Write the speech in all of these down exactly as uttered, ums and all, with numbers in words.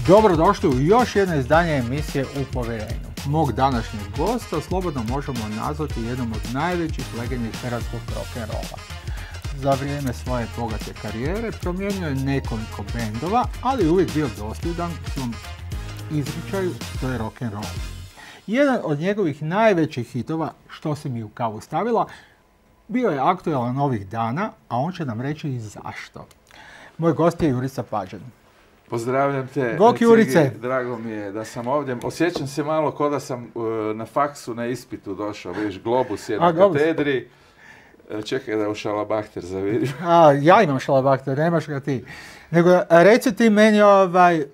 Dobrodošli u još jedno izdanje emisije U povjerenju. Mog današnjeg gosta slobodno možemo nazvati jednom od najvećih legendi hrvatskog rock'n'rolla. Za vrijeme svoje bogate karijere promijenio je nekoliko bendova, ali je uvijek bio dosljedan svom izričaju, to je rock'n'roll. Jedan od njegovih najvećih hitova, Što si mi u kavu stavila, bio je aktualan ovih dana, a on će nam reći i zašto. Moj gost je Jurica Pađen. Pozdravljam te, Bok Jurice. Drago mi je da sam ovdje. Osjećam se malo kao da sam uh, na faksu na ispitu došao, vidiš, globus je na katedri. Čekaj da u šalabahter zavidim. A, ja imam šalabahter, nemaš ga ti. Nego, reci ti meni, ovaj, uh,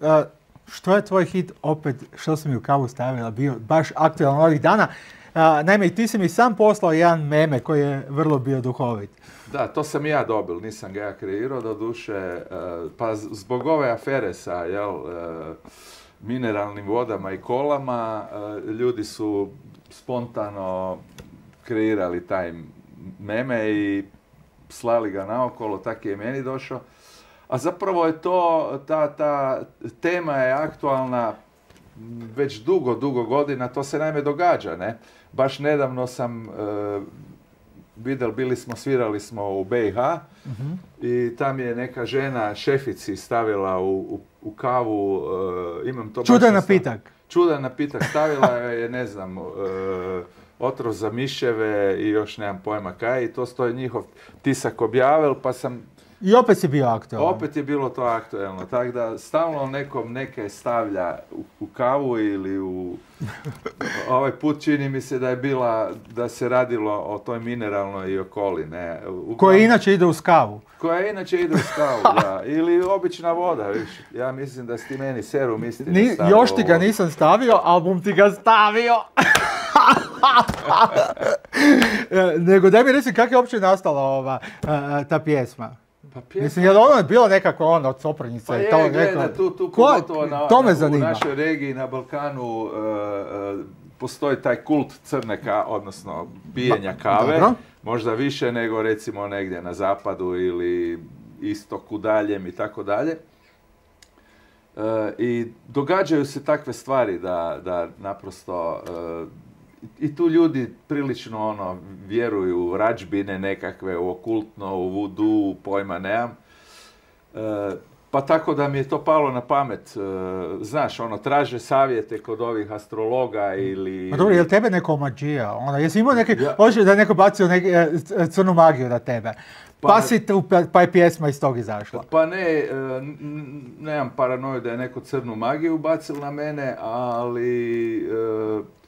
što je tvoj hit opet, Što si mi u kavu stavila, bio baš aktualan ovih dana. Uh, naime, ti si mi sam poslao jedan meme koji je vrlo bio duhovit. Da, to sam ja dobil, nisam ga ja kreirao, do duše, uh, pa zbog ove afere sa, jel, uh, mineralnim vodama i kolama, uh, ljudi su spontano kreirali taj meme i slali ga naokolo, tak je i meni došao. A zapravo je to, ta, ta tema je aktualna već dugo, dugo godina, to se naime događa, ne? Baš nedavno sam uh, vidjeli, bili smo, svirali smo u B i H uh-huh. i tam je neka žena šefici stavila u, u, u kavu, uh, imam to Čudan napitak. Čudan napitak, stavila je, ne znam, uh, otrov za miševe i još nemam pojma kaj, i to stoji njihov tisak objavil, pa sam... I opet si bio aktualan. Opet je bilo to aktualno, tako da stalno nekom neke stavlja u, u kavu ili u... Ovaj put čini mi se da je bila, da se radilo o toj mineralnoj i okoli, ne. Uglavnom, koja inače ide uz kavu. Koja inače ide uz kavu, da. Ili obična voda, viš. Ja mislim da si ti meni serum istine Ni, stavio. Još ti ga nisam stavio, album ti ga stavio. Nego daj mi reci kako je uopće nastala ova, ta pjesma. Pa pjesma... Mislim, je li ono je bilo nekako ono od Soprnice? Pa je, to, gleda, neko... tu, tu Ko... pogotovo na, to me na, zanima. U našoj regiji, na Balkanu, uh, uh, postoji taj kult crne kave, odnosno pijenja kave. Dobro. Možda više nego recimo negdje na zapadu ili istoku daljem i tako dalje. Uh, I događaju se takve stvari da, da naprosto... Uh, I tu ljudi prilično ono vjeruju u radžbine nekakve, u okultno, u vudu, pojma nemam. E, pa tako da mi je to palo na pamet. E, znaš, ono, traže savjete kod ovih astrologa ili... Ma dobro, je li tebe neko omađija? Ono, jesi imao neki, ja. Hoćeš da je neko bacio neki, e, crnu magiju na tebe? Pa, pa, si tu, pa je pjesma iz tog izašla. Pa ne, e, nemam paranoju da je neko crnu magiju bacil na mene, ali... E,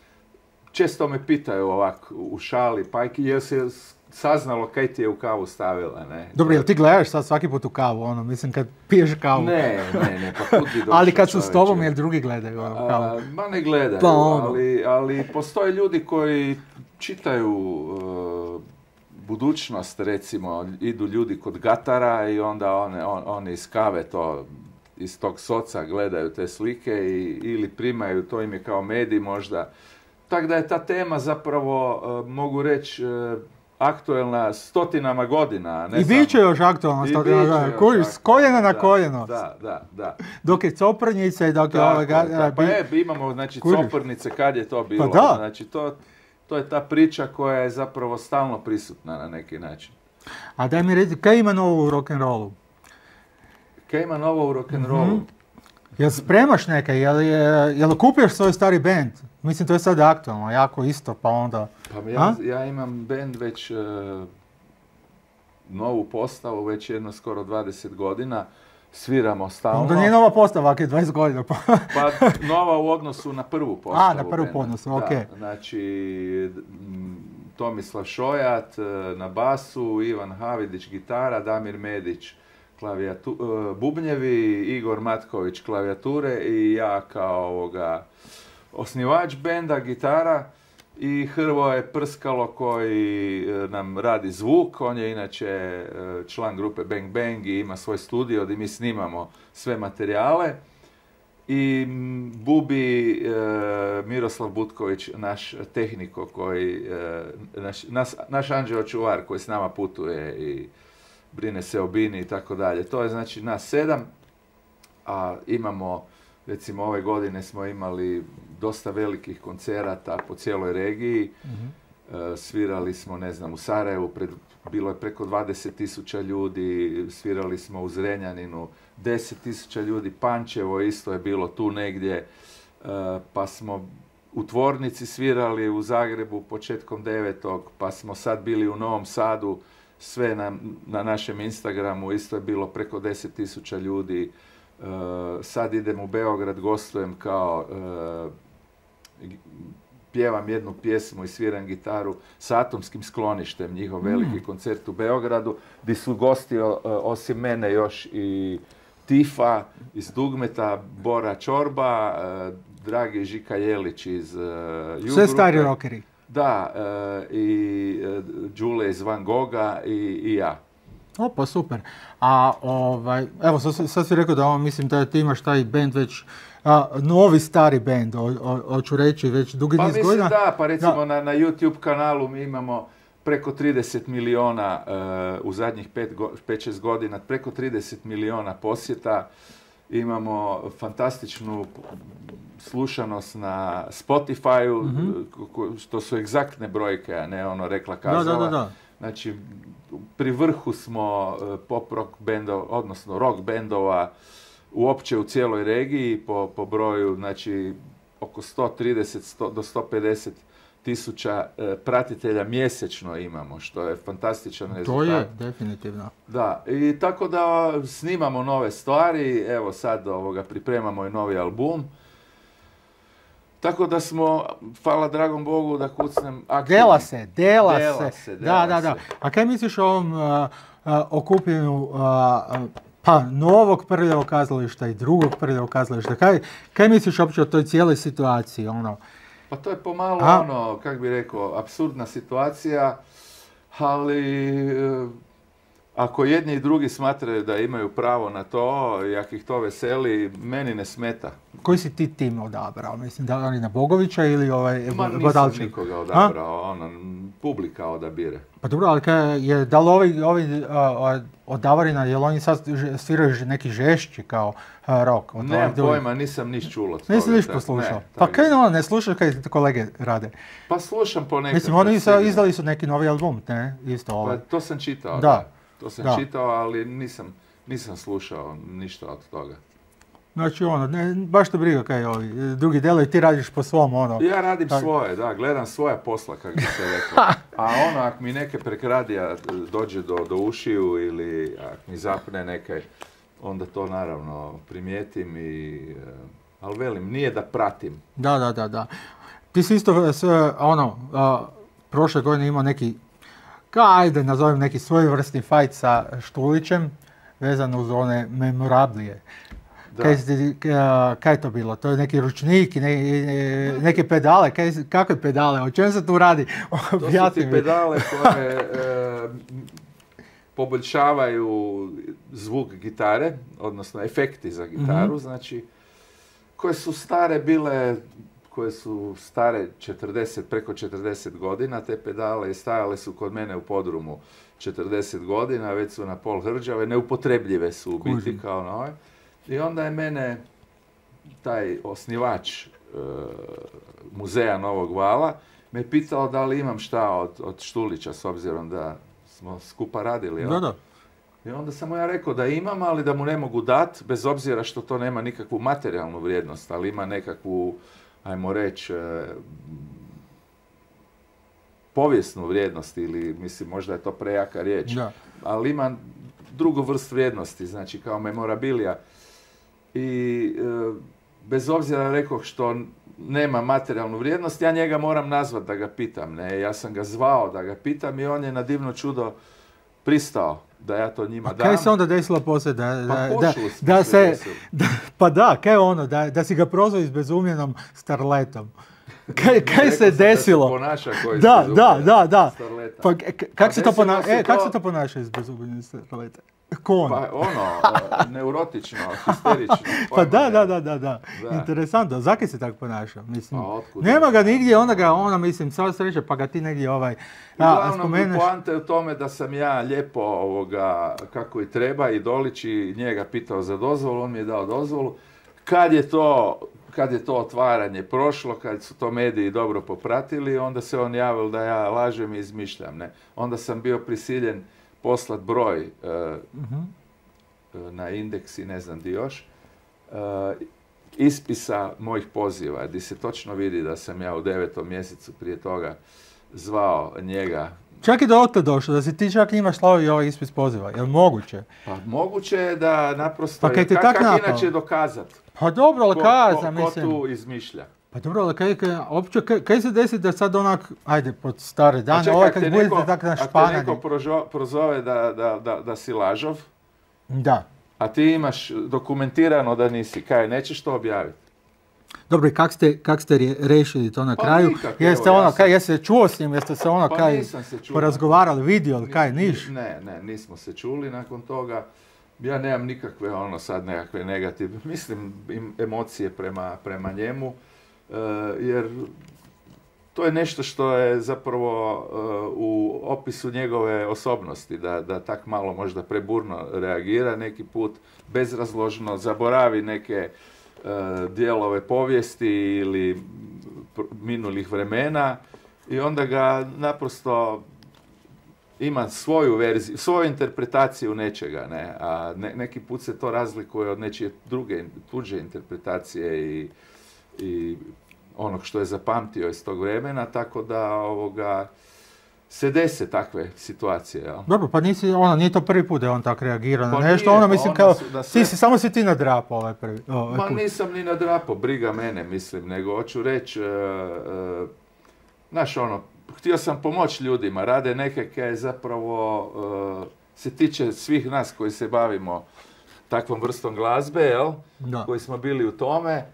često me pitaju ovako u šali, pa je se saznalo kaj ti je u kavu stavila, ne? Dobro, jel ti gledaš sad svaki put u kavu, ono, mislim, kad piješ kavu? Ne, ne, ne, pa put bi došao. Ali kad su s tobom, jel drugi gledaju ono, kavu? A, ma ne gledaju, pa ono. ali, ali postoje ljudi koji čitaju uh, budućnost, recimo, idu ljudi kod gatara i onda one, on, oni iz kave to, iz tog soca gledaju te slike i, ili primaju, to im je kao medij možda. Tako da je ta tema zapravo, uh, mogu reći, uh, aktualna stotinama godina. Ne I bit će još aktualna stotinama godina. Kuriš, s koljena na koljeno. Da, da, da. Dok je Coprnice i dok je ove... Da, pa je, imamo, znači, Coprnice, kad je to bilo. Pa da. Znači, to, to je ta priča koja je zapravo stalno prisutna na neki način. A daj mi reći, kaj ima novo u rock'n'rollu? Kaj ima novo u rock'n'rollu? Mm-hmm. Jel spremaš neke? Jel, je, jel kupuješ svoj stari band? Mislim, to je sad aktualno, jako isto, pa onda... Pa ja, ja imam band već uh, novu postavu, već jedno skoro dvadeset godina. Sviramo stalno. Onda nije nova postava, ako je dvadeset godina. Pa nova u odnosu na prvu postavu. A, na prvu odnosu, okej. Okay. Znači, Tomislav Šojat na basu, Ivan Havidić gitara, Damir Medić Klavijatu, uh, bubnjevi, Igor Matković klavijature i ja kao ovoga osnivač benda, gitara, i Hrvoje Prskalo koji uh, nam radi zvuk. On je inače uh, član grupe Bang Bang i ima svoj studio gdje mi snimamo sve materijale. I Bubi, uh, Miroslav Butković, naš tehniko koji, uh, naš, nas, naš anđeo čuvar koji s nama putuje i brine se o bini i tako dalje. To je znači nas sedam, a imamo recimo ove godine smo imali dosta velikih koncerata po cijeloj regiji. Mhm. E, svirali smo, ne znam, u Sarajevu, pred, bilo je preko dvadeset tisuća ljudi, svirali smo u Zrenjaninu, deset tisuća ljudi, Pančevo isto je bilo tu negdje, e, pa smo u Tvornici svirali u Zagrebu početkom devetog, pa smo sad bili u Novom Sadu, sve na, na našem Instagramu, isto je bilo preko deset tisuća ljudi. E, sad idem u Beograd, gostujem kao, e, pjevam jednu pjesmu i sviram gitaru s Atomskim skloništem, njihov veliki mm. koncert u Beogradu, gdje su gosti o, osim mene još i Tifa iz Dugmeta, Bora Čorba, e, Dragi Žika Jelić iz uh, Jugrupe. Sve stari rockeri. Da, uh, i uh, Đule iz Van Gogha i, i ja. Opa, super. A ovaj, evo, sad, sad si rekao da ovo, mislim da ti imaš taj band već, a, novi stari band, hoću reći, već dugi pa niz godina. Pa mislim da, pa recimo da. Na, na YouTube kanalu mi imamo preko trideset miliona uh, u zadnjih pet šest godina, preko trideset miliona posjeta. Imamo fantastičnu slušanost na Spotify-u, mm-hmm. što su egzaktne brojke, a ne ono rekla kazala. Da, da, da, da. Znači, pri vrhu smo pop rock bendova, odnosno rock bendova uopće u cijeloj regiji po, po broju, znači oko sto trideset do sto pedeset tisuća e, pratitelja mjesečno imamo, što je fantastičan rezultat. To je, definitivno. Da, i tako da snimamo nove stvari, evo sad ovoga, pripremamo i novi album. Tako da smo, hvala dragom Bogu da kucnem aktivni. Dela se, dela, dela se. se. Dela da, da, da. se. A kaj misliš o ovom uh, uh, okupljenju uh, pa novog Prljavog kazališta i drugog Prljavog kazališta? Kaj, kaj misliš uopće o toj cijeloj situaciji? Ono? Pa to je pomalo A? ono, kak bi rekao, apsurdna situacija, ali e, ako jedni i drugi smatraju da imaju pravo na to, i ako ih to veseli, meni ne smeta. Koji si ti tim odabrao? Mislim, da li na Bogovića ili ovaj Ma nisam Bodalček? nikoga odabrao, ono, publika odabire. Pa dobro, ali kaj je, da li ovi, ovi a, od Davorina, je li oni sad sviraju neki žešći kao a, rock? Od Nemam pojma, nisam niš čulo. Nisi niš poslušao? Ne, pa kaj ono, ne slušaš kaj kolege rade? Pa slušam ponekad. Mislim, oni su, izdali su neki novi album, ne? Isto ovaj. Pa to sam čitao, da. da. To sam da. čitao, ali nisam, nisam slušao ništa od toga. Znači ono, ne, baš te briga kaj ovi drugi delovi, ti radiš po svom ono. Ja radim tak. svoje, da, gledam svoja posla, kako bi se rekao. A ono, ako mi neke prekradija dođe do, do ušiju ili ako mi zapne neke, onda to naravno primijetim i, ali velim, nije da pratim. Da, da, da, da. Ti si isto sve, ono, a, prošle godine imao neki, ajde nazovem neki svojevrsni fight sa Štulićem, vezano uz one memorablije. Kaj, kaj je to bilo? To je neki ručnik, ne, neke pedale, kaj, kakve pedale, o čem se tu radi? To su ti pedale koje e, poboljšavaju zvuk gitare, odnosno efekti za gitaru, mm-hmm. znači, koje su stare bile, koje su stare četrdeset, preko četrdeset godina, te pedale i stajale su kod mene u podrumu četrdeset godina, već su na pol hrđave, neupotrebljive su u biti kao nove. I onda je mene taj osnivač e, muzeja Novog Vala me pitao da li imam šta od, od Štulića, s obzirom da smo skupa radili. Da, da. I onda sam mu ja rekao da imam, ali da mu ne mogu dat, bez obzira što to nema nikakvu materijalnu vrijednost, ali ima nekakvu, ajmo reći, e, povijesnu vrijednost ili, mislim, možda je to prejaka riječ, da. Ali ima drugu vrst vrijednosti, znači kao memorabilija. I e, bez obzira rekao što nema materijalnu vrijednost, ja njega moram nazvat da ga pitam. Ne? Ja sam ga zvao da ga pitam i on je na divno čudo pristao da ja to njima A dam. kaj se onda desilo poslije? Da, da, pa da, da se, da, pa da, kaj ono, da, da si ga prozvao izbezumljenom starletom. Kaj, kaj se desilo? Da se ponaša koji da, da, da, da. Starleta. Pa, k- kak, pa se to pona- se e, to... kak se to ponaša izbezumljenom starleta? Ko on? Pa ono, neurotično, histerično. Pa da, da, da, da, da. Interesantno. Zakaj se tako ponaša? Mislim, pa nema ga nigdje, onda ga, ona, mislim, sva sreća, pa ga ti negdje ovaj... Uglavnom, spomeneš... poanta je u tome da sam ja lijepo ovoga, kako i treba, i Dolić i njega pitao za dozvolu, on mi je dao dozvolu. kad je to, kad je to otvaranje prošlo, kad su to mediji dobro popratili, onda se on javil da ja lažem i izmišljam. Ne? Onda sam bio prisiljen poslat broj uh, Mhm. na Indeks i ne znam di još, uh, ispisa mojih poziva, gdje se točno vidi da sam ja u devetom mjesecu prije toga zvao njega. Čak i do ote došlo, da si ti čak njima slao i ovaj ispis poziva. Je li moguće? Pa moguće je da naprosto, Pa kaj ti ka- tak kak napao? inače dokazat Pa dobro, ali ko, kaza, ko, ko mislim. tu izmišlja. Pa dobro, ali kaj, kaj, opće, kaj, kaj se desi da sad onak, ajde, pod stare A dane, čekaj, ovaj ak kad te budete neko, tak ak te neko našpanani. prožo- prozove da, da, da, da si lažov, Da. a ti imaš dokumentirano da nisi, kaj, nećeš to objaviti? Dobro, i kak ste, kak ste rje- rešili to na Pa kraju? nikak, Jeste evo, ja ono, sam- kaj, jeste čuo s njim, jeste se ono, Pa kaj, nisam se čuo. porazgovarali, vidjeli, kaj, Ni- niš? Ne, ne, nismo se čuli nakon toga. Ja nemam nikakve, ono, sad nekakve negativne, mislim, im- emocije prema, prema njemu, e, jer to je nešto što je zapravo e, u opisu njegove osobnosti, da, da tak malo možda preburno reagira neki put, bezrazložno, zaboravi neke e, dijelove povijesti ili pr- minulih vremena i onda ga naprosto ima svoju verziju, svoju interpretaciju nečega, ne, a ne, neki put se to razlikuje od nečije druge, tuđe interpretacije i, i onog što je zapamtio iz tog vremena, tako da ovoga, se dese takve situacije, jel? Dobro, pa nisi, ono, nije to prvi put da je on tak reagirao na Pa nešto, nije, ono, pa mislim, onda kao, su- da sve- ti si, samo si ti nadrapao ovaj prvi, ovaj Ma put. nisam ni nadrapao, briga mene, mislim, nego hoću reći, e, e, znaš ono, htio sam pomoći ljudima, rade neke kaj zapravo e, se tiče svih nas koji se bavimo takvom vrstom glazbe, jel? Da. Koji smo bili u tome.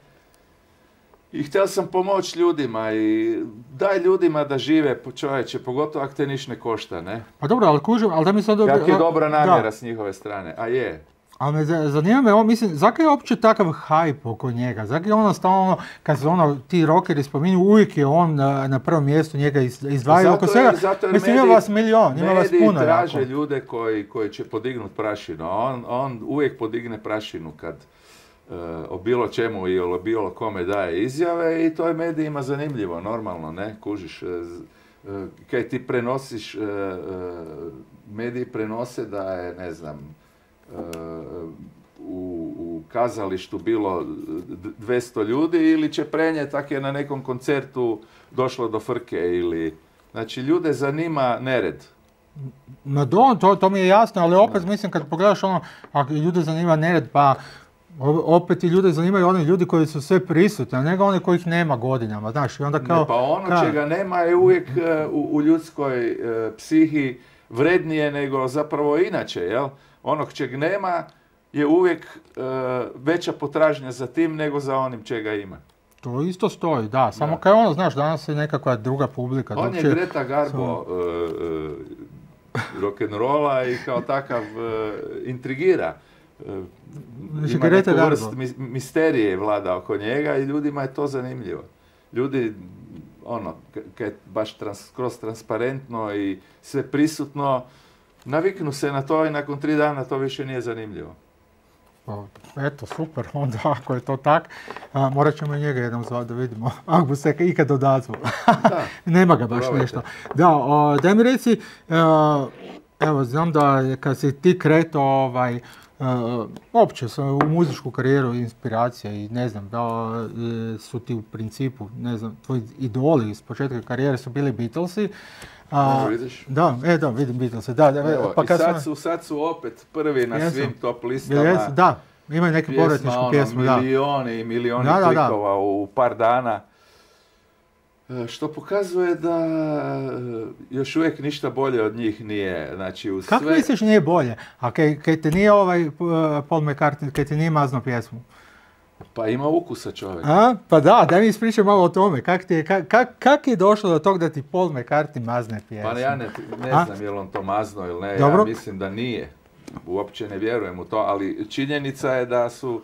I htio sam pomoći ljudima i daj ljudima da žive, po čovječe, pogotovo ako te niš ne košta, ne? Pa dobro, ali kužim, ali da mi sad... Kak je dobra namjera Da. s njihove strane, a je. Ali me za- zanima me, on, mislim, zakaj je uopće takav hype oko njega? Zakaj je ono stalno, ono, kad se ono, ti rockeri spominju, uvijek je on na, na prvom mjestu, njega iz- izdvajaju oko Zato svega. jer- zato jer Mislim, ima mediji- vas milion, ima vas mediji puno traže jako. ljude koji, koji će podignuti prašinu, a on, on uvijek podigne prašinu kad e, o bilo čemu i o bilo kome daje izjave i to je medijima zanimljivo, normalno, ne, kužiš. e, z- e, kaj ti prenosiš, e, e, mediji prenose da je, ne znam, e, u, u kazalištu bilo d- dvjesto ljudi ili će prenijeti tak je na nekom koncertu došlo do frke ili... Znači, ljude zanima nered. Ma do, to, to mi je jasno, ali opet mislim kad pogledaš ono, ako ljude zanima nered, pa o- opet i ljude zanimaju oni ljudi koji su sve prisutni, a nego oni kojih nema godinama, znaš, i onda kao... Ne, pa ono ka- čega nema je uvijek e, u, u ljudskoj e, psihi vrednije nego zapravo inače, jel? Onog čeg nema je uvijek e, veća potražnja za tim nego za onim čega ima. To isto stoji, da, samo Da. kao ono, znaš, danas je nekakva druga publika. On je drugčije- Greta Garbo e, e, rock'n'rolla i kao takav e, intrigira. E, Znači, ima Greta neku Garbo. vrst mis- misterije vlada oko njega i ljudima je to zanimljivo. Ljudi, ono, k- kad je baš trans, kroz transparentno i sve prisutno, naviknu se na to i nakon tri dana to više nije zanimljivo. Pa, eto, super, onda ako je to tak, a, morat ćemo i njega jednom zvati da vidimo, ako mu se ikad odazvu. Da. Nema ga baš Probajte. nešto. Da, o, daj mi reci, e, evo, znam da je kad si ti kreto, ovaj, e, opće sa- u muzičku karijeru, inspiracija i ne znam, da e, su ti u principu, ne znam, tvoji idoli iz početka karijere su bili Beatlesi. A, Evo, vidiš? da, e da, vidim Beatlese, da, da, Evo, pa i kad sad sam- su, sad su opet prvi na Jesu. svim top Jel listama. jesu? Da, imaju neku Pjesma, povratničku ono, pjesmu, da. milioni i milioni Da, da, da. klikova u par dana. E, Što pokazuje da e, još uvijek ništa bolje od njih nije. Znači, u Kako sve... misliš nije bolje? A kaj, kaj te nije ovaj uh, Paul McCartney, kaj te nije mazno pjesmu? Pa ima ukusa čovjek. A? Pa da, daj mi ispričaj malo o tome. Kak, ti je, kak, kak, kak je došlo do tog da ti Paul McCartney mazne pjesmu? Pa ja ne, ne A? znam je li on to mazno ili ne. Dobro. Ja mislim da nije. Uopće ne vjerujem u to, ali činjenica je da su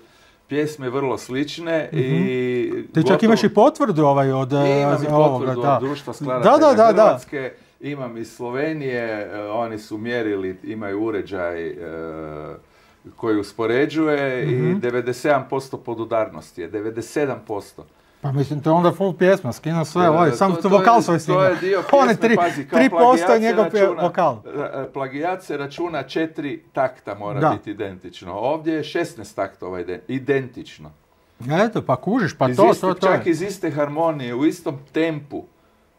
pjesme vrlo slične i... Ti čak imaš i potvrdu ovaj od uh, Imam i ovoga, potvrdu da. od društva Da, skladatelja da, da, da. Hrvatske, imam iz Slovenije, e, oni su mjerili, imaju uređaj, e, koji uspoređuje Mhm. i devedeset sedam posto podudarnosti je, devedeset sedam posto. Pa mislim, to je onda full pjesma, skinuo sve, E, ovaj, to- samo to to je- vokal svoj To snimao. je dio One pjesme, tri, pazi, kao tri posto je plagijat se njegov pje- računa- vokal. ra- Plagijat se računa četiri takta mora Da. biti identično. Ovdje je šesnaest taktova ide- identično. Eto, pa kužiš, pa Iz to, iste- to, to čak je. iz iste harmonije, u istom tempu.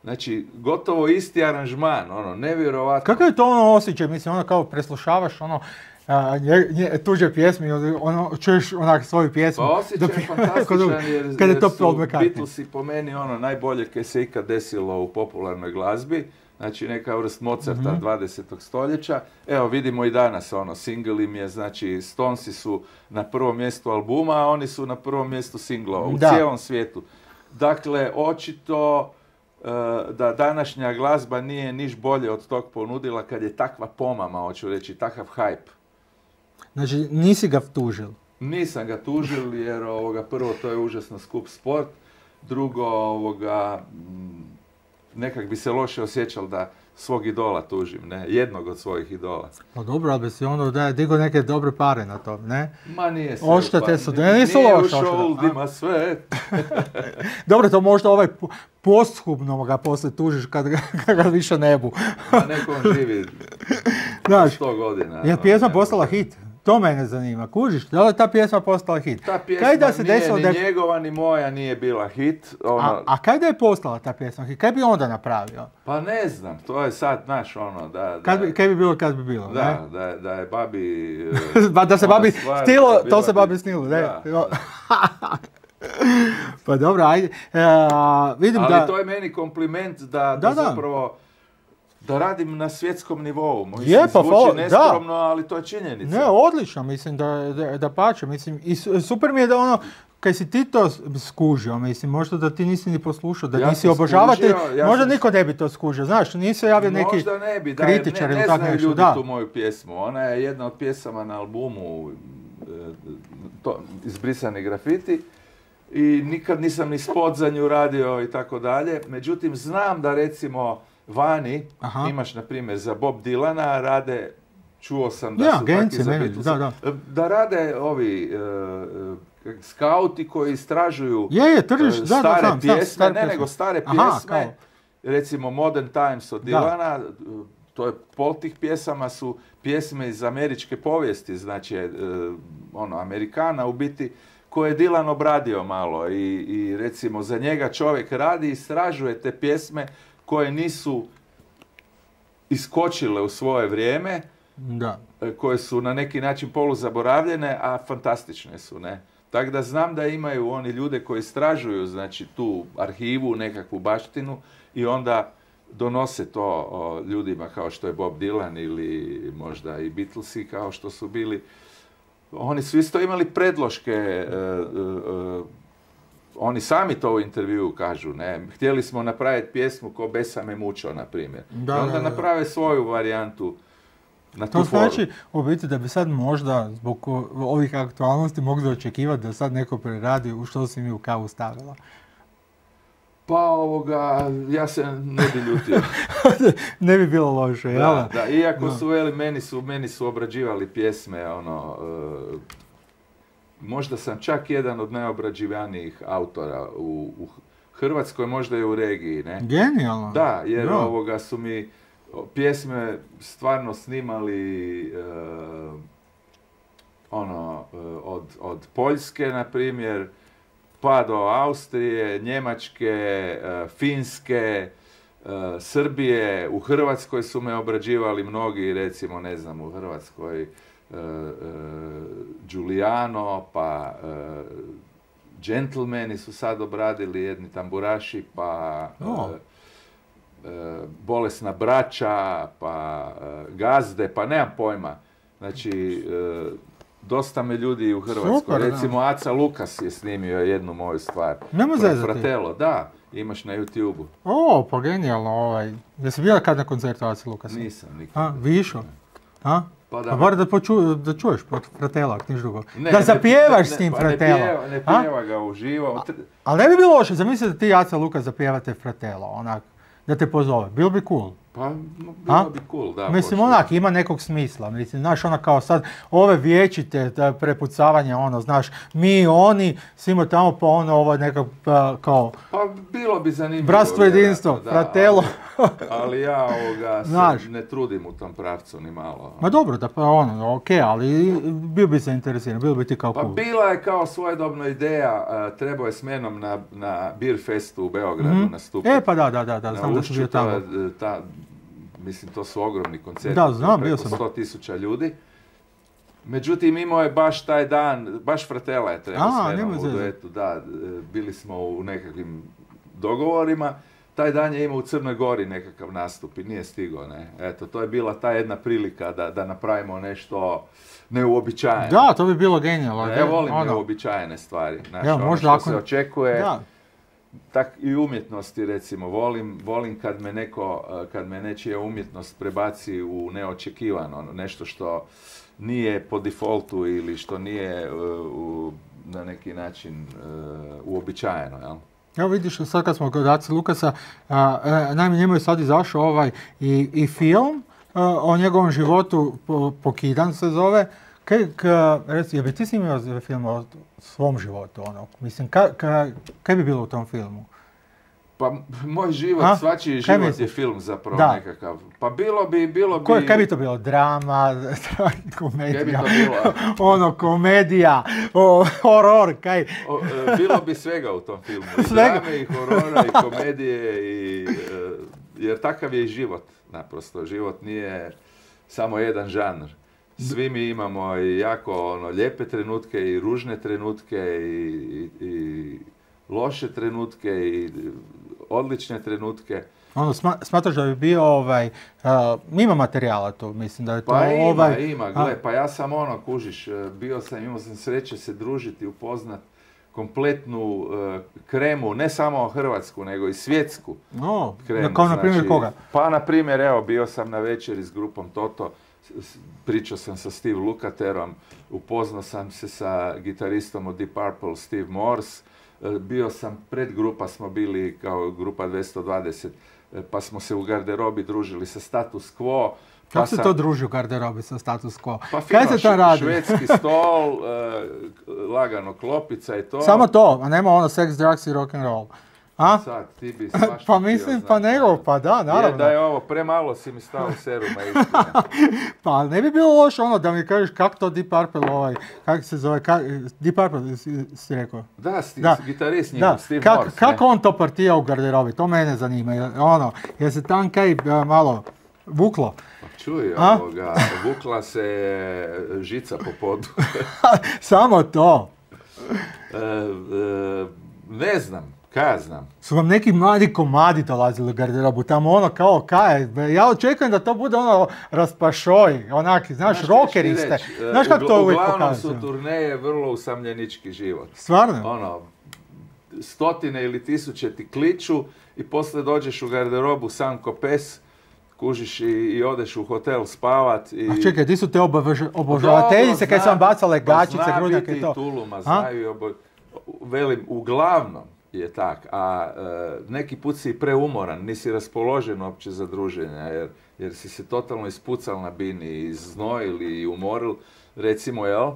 Znači, gotovo isti aranžman, ono, nevjerovatno. Kakav je to ono osjećaj, mislim, ono kao preslušavaš, ono, a, nje, nje, tuđe pjesme, i ono, čuješ onak svoju pjesmu. Pa osjećaj je kod- fantastičan jer, kad je jer to su Paul McCartney. Beatlesi po meni ono najbolje kaj se ikad desilo u popularnoj glazbi. Znači neka vrst Mozarta Mhm. dvadesetog stoljeća. Evo vidimo i danas ono, single im je, znači Stonesi su na prvom mjestu albuma, a oni su na prvom mjestu singlova u Da. cijelom svijetu. Dakle, očito e, da današnja glazba nije niš bolje od tog ponudila kad je takva pomama, hoću reći, takav hype. Znači, nisi ga tužil. Nisam ga tužil jer ovoga, prvo to je užasno skup sport, drugo ovoga, mm, nekak bi se loše osjećal da svog idola tužim, ne, jednog od svojih idola. Pa dobro, ali bi si onda da je digo neke dobre pare na to, ne? Ma nije se... Odštete pa, su, ni- ne, nisu nije loše u odštete, šoldima a? sve. Dobro, to možda ovaj po- posthumno ga poslije tužiš kad ga, kad ga više ne bu. Ma neko on živi Znaš, sto godina. je ono, pjesma ne postala može. hit? To mene zanima, kužiš? Da li je ta pjesma postala hit? Ta pjesma Kaj da se nije desilo ni da je- njegova ni moja nije bila hit. Ono, A, a kaj da je postala ta pjesma hit? Kaj bi onda napravio? Pa ne znam, to je sad, znaš, ono, da... da Kad bi, kaj bi bilo kad bi bilo, Da, ne? da, je- da je babi... e, Ba, da se ona babi stvar stilo, da to bila se bi- babi snilo, ne? Da, Jo. da. Pa dobro, ajde. E, a, vidim Ali da... to je meni kompliment da, da, Da, da. zapravo da radim na svjetskom nivou. Mislim, Je, pa zvuči hvala- da. neskromno, ali to je činjenica. Ne, odlično, mislim da, da, da pače, mislim, i su- super mi je da ono, kaj si ti to s- skužio, mislim, možda da ti nisi ni poslušao, da Ja nisi sam obožavatelj, skužio, ja možda sam- niko ne bi to skužio, znaš, nije se javio neki Možda ne bi, da, jer kritičar ne, ili ne tako znaju nešto, ljudi da. tu moju pjesmu. Ona je jedna od pjesama na albumu e, to, Izbrisani grafiti i nikad nisam ni spot za nju radio i tako dalje. Međutim, znam da recimo vani Aha. imaš, na primjer, za Bob Dylana rade, čuo sam da Ja, su agencije, takvi za meni, Beatlesa, da, da. da rade ovi e, e, skauti koji istražuju Je, je, tržiš, e, da, da, stare znam, znam, pjesme, stare ne pjesme. nego stare Aha, pjesme, kao. recimo Modern Times od Da. Dylana, to je pol tih pjesama su pjesme iz američke povijesti, znači e, ono, Amerikana u biti, koje je Dylan obradio malo i, i recimo za njega čovjek radi i istražuje te pjesme koje nisu iskočile u svoje vrijeme, Da. e, koje su na neki način poluzaboravljene, a fantastične su, ne? Tako da znam da imaju oni ljude koji istražuju, znači, tu arhivu, nekakvu baštinu i onda donose to o, ljudima kao što je Bob Dylan ili možda i Beatlesi kao što su bili. Oni su isto imali predloške, e, e, e, oni sami to u intervjuu kažu, ne? Htjeli smo napraviti pjesmu ko Besa me mučo, na primjer. Da, I onda da, da. naprave svoju varijantu na To tu foru. znači, u biti, da bi sad možda, zbog o- ovih aktualnosti, mogli očekivati da sad neko preradi u što si mi u kavu stavila. Pa ovoga, ja se ne bi ljutio. Ne bi bilo loše, jel? Da, da, iako Da. su, veli, meni su, meni su obrađivali pjesme, ono, e, možda sam čak jedan od najobrađivanijih autora u, u Hrvatskoj, možda i u regiji, ne? Genijalno. Da, jer Da. ovoga su mi o, pjesme stvarno snimali e, ono, e, od, od Poljske, na primjer, pa do Austrije, Njemačke, e, Finske, e, Srbije, u Hrvatskoj su me obrađivali mnogi, recimo, ne znam, u Hrvatskoj e, e, Giuliano, pa e, Gentlemani su sad obradili, jedni tamburaši, pa O. e, e, Bolesna braća, pa e, Gazde, pa nemam pojma. Znači, e, dosta me ljudi u Hrvatskoj. Super, da. Recimo, Aca Lukas je snimio jednu moju stvar. Nema zezati. Fratello, da, imaš na YouTube-u. O, pa genijalno, ovaj. Jesi bila kad na koncertu Aci Lukasa? Nisam nikad. A, višo? A? Pa da. Pa bar da, poču, da čuješ pod Fratela, ako niš drugo. Ne, da ne, zapjevaš ne, s tim pa Fratelo. Ne pjeva, ne A? pjeva ga uživo. Tr- Ali ne bi bilo loše, zamisli da ti i Aca Lukas zapjevate Fratelo, onak, da te pozove. Bilo bi cool. Pa, bilo bi cool, da. Mislim, onak, ima nekog smisla. Mislim, znaš, ona kao sad, ove vječite prepucavanja, ono, znaš, mi, oni, svima tamo, pa ono, ovo nekak, pa, kao... Pa, bilo bi zanimljivo. Bratstvo, jedinstvo, fratelo. Ali, ali ja ovoga se ne trudim u tom pravcu ni malo. Ma dobro, da pa ono, okej, okay, ali bio bi se interesiran, bilo bi ti kao pa cool. Pa bila je kao svojedobna ideja, uh, trebao je s menom na, na Beer Festu u Beogradu mm-hmm. nastupiti. E, pa da, da, da, da, znam da sam bio tamo. Ta, mislim, to su ogromni koncerti, da, znam, bio sam. sto tisuća ljudi. Međutim, imao je baš taj dan, baš Fratela je trebao s menom u duetu, da, bili smo u nekakvim dogovorima. Taj dan je imao u Crnoj Gori nekakav nastup i nije stigao, ne. Eto, to je bila ta jedna prilika da, da napravimo nešto neuobičajeno. Da, to bi bilo genijalno. Ja volim ono. neuobičajene stvari, znači, ja, ono što ako... se očekuje. Da. Tak i umjetnosti, recimo, volim, volim kad me neko, kad me nečija umjetnost prebaci u neočekivano, nešto što nije po defaultu ili što nije uh, u, na neki način uh, uobičajeno, jel? Evo vidiš, sad kad smo kod Ace Lukasa, naime njemu je sad izašao ovaj i, i film a, o njegovom životu, po, Pokidan se zove. Kaj, ka, reci, je bi ti snimio film o svom životu, ono? Mislim, ka, ka, kaj bi bilo u tom filmu? Pa moj život, a? svačiji život misli? je film zapravo da. nekakav. Pa bilo bi, bilo bi... Ko, kaj bi to bilo? Drama, komedija? Kaj bi to bilo? ono, komedija, o, horor, kaj? O, bilo bi svega u tom filmu. I svega? Drame, i horora, i komedije, i, jer takav je i život, naprosto. Život nije samo jedan žanr. Svi mi imamo i jako ono, lijepe trenutke i ružne trenutke i, i, i loše trenutke i odlične trenutke. Ono, sma, smatraš da bi bio ovaj, uh, ima materijala to, mislim da je to pa ima, ovaj... ima, gle, pa ja sam ono, kužiš, bio sam, imao sam sreće se družiti, upoznat kompletnu uh, kremu, ne samo hrvatsku, nego i svjetsku no, kremu. Kao na primjer znači, koga? Pa na primjer, evo, bio sam na večeri s grupom Toto, pričao sam sa Steve Lukatherom, upoznao sam se sa gitaristom od Deep Purple, Steve Morse, bio sam, pred grupa smo bili kao grupa dvjesto dvadeset, pa smo se u garderobi družili sa Status Quo. Kako pa se sam, to druži u garderobi sa Status Quo? Pa kaj fino, se to radi? Švedski stol, uh, lagano klopica i to. Samo to, a nema ono sex, drugs i rock and roll. A? Sad, ti bi svašta pa mislim, htio, pa nego, pa da, naravno. Je da je ovo, premalo si mi stao seruma istina. Pa ne bi bilo loše ono da mi kažeš kako to Deep Purple ovaj, kako se zove, kak, Deep Purple si, si rekao? Da, sti, da. gitarist njegov, da. Steve Kak, Morse. Kako on to partija u garderobi, to mene zanima, ono, je se tam kaj uh, malo vuklo? Čuj, ovoga, vukla se žica po podu. Samo to. E, e, ne znam. Kaj ja znam? Su vam neki mladi komadi dolazili u garderobu, tamo ono kao kaj, ja očekujem da to bude ono raspašoj, onaki, znaš, znaš rockeri ste. Znaš kako to uvijek pokazuju? Uglavnom su turneje vrlo usamljenički život. Stvarno? Ono, stotine ili tisuće ti kliču i poslije dođeš u garderobu sam ko pes, kužiš i, i odeš u hotel spavat. I... A čekaj, di su te obožavateljice kaj su vam bacale gačice, grudnjake i to? Zna biti Tuluma, znaju i obo... Velim, uglavnom je tak, a e, neki put si preumoran, nisi raspoložen uopće za druženja, jer, jer si se totalno ispucal na bini, iznojil i umoril, recimo, jel?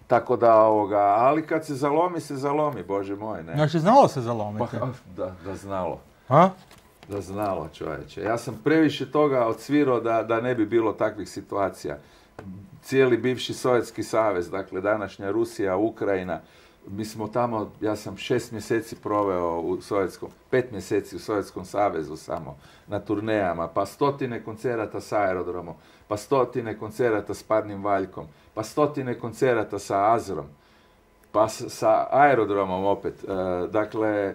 Tako da, ovoga, ali kad se zalomi, se zalomi, Bože moj, ne? Znači, znalo se zalomiti? Pa, da, da znalo. A? Da znalo, čovječe. Ja sam previše toga odsvirao da, da ne bi bilo takvih situacija. Cijeli bivši Sovjetski savez, dakle, današnja Rusija, Ukrajina, mi smo tamo, ja sam šest mjeseci proveo u Sovjetskom, pet mjeseci u Sovjetskom savezu samo, na turnejama, pa stotine koncerata sa Aerodromom, pa stotine koncerata s Parnim Valjkom, pa stotine koncerata sa Azrom, pa s, sa Aerodromom opet. E, dakle,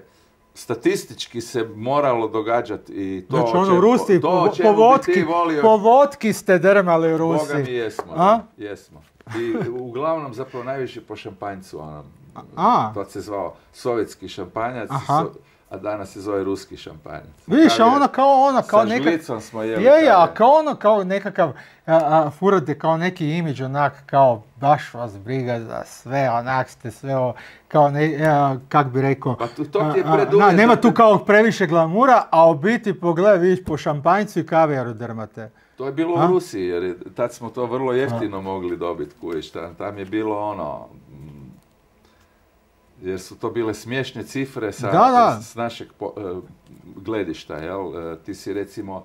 statistički se moralo događati i to znači, ono u Rusiji, to po, po, vodki, volio, po vodki ste drmali u Rusiji. Boga mi jesmo, da, jesmo. I uglavnom zapravo najviše po šampanjcu, ono, A. to se zvao sovjetski šampanjac, so, a danas se zove ruski šampanjac. Vidiš, a ono kao ono, kao sa neka... žlicom smo jeli. Je, je, a kao ono, kao nekakav, a, a, furate kao neki imidž, onak, kao baš vas briga za sve, onak ste sve, o, kao ne, a, kak bi rekao, Pa tu, to ti je a, a, preduvjet na, nema da tu te- kao previše glamura, a u biti pogledaj, vidiš, po šampanjcu i kavijaru drmate. To je bilo A? u Rusiji, jer je- tad smo to vrlo jeftino mogli dobiti, kujiš, tam, tam je bilo ono, mm, jer su to bile smiješne cifre sa, Da, da. s našeg po- e, gledišta, jel? E, Ti si recimo,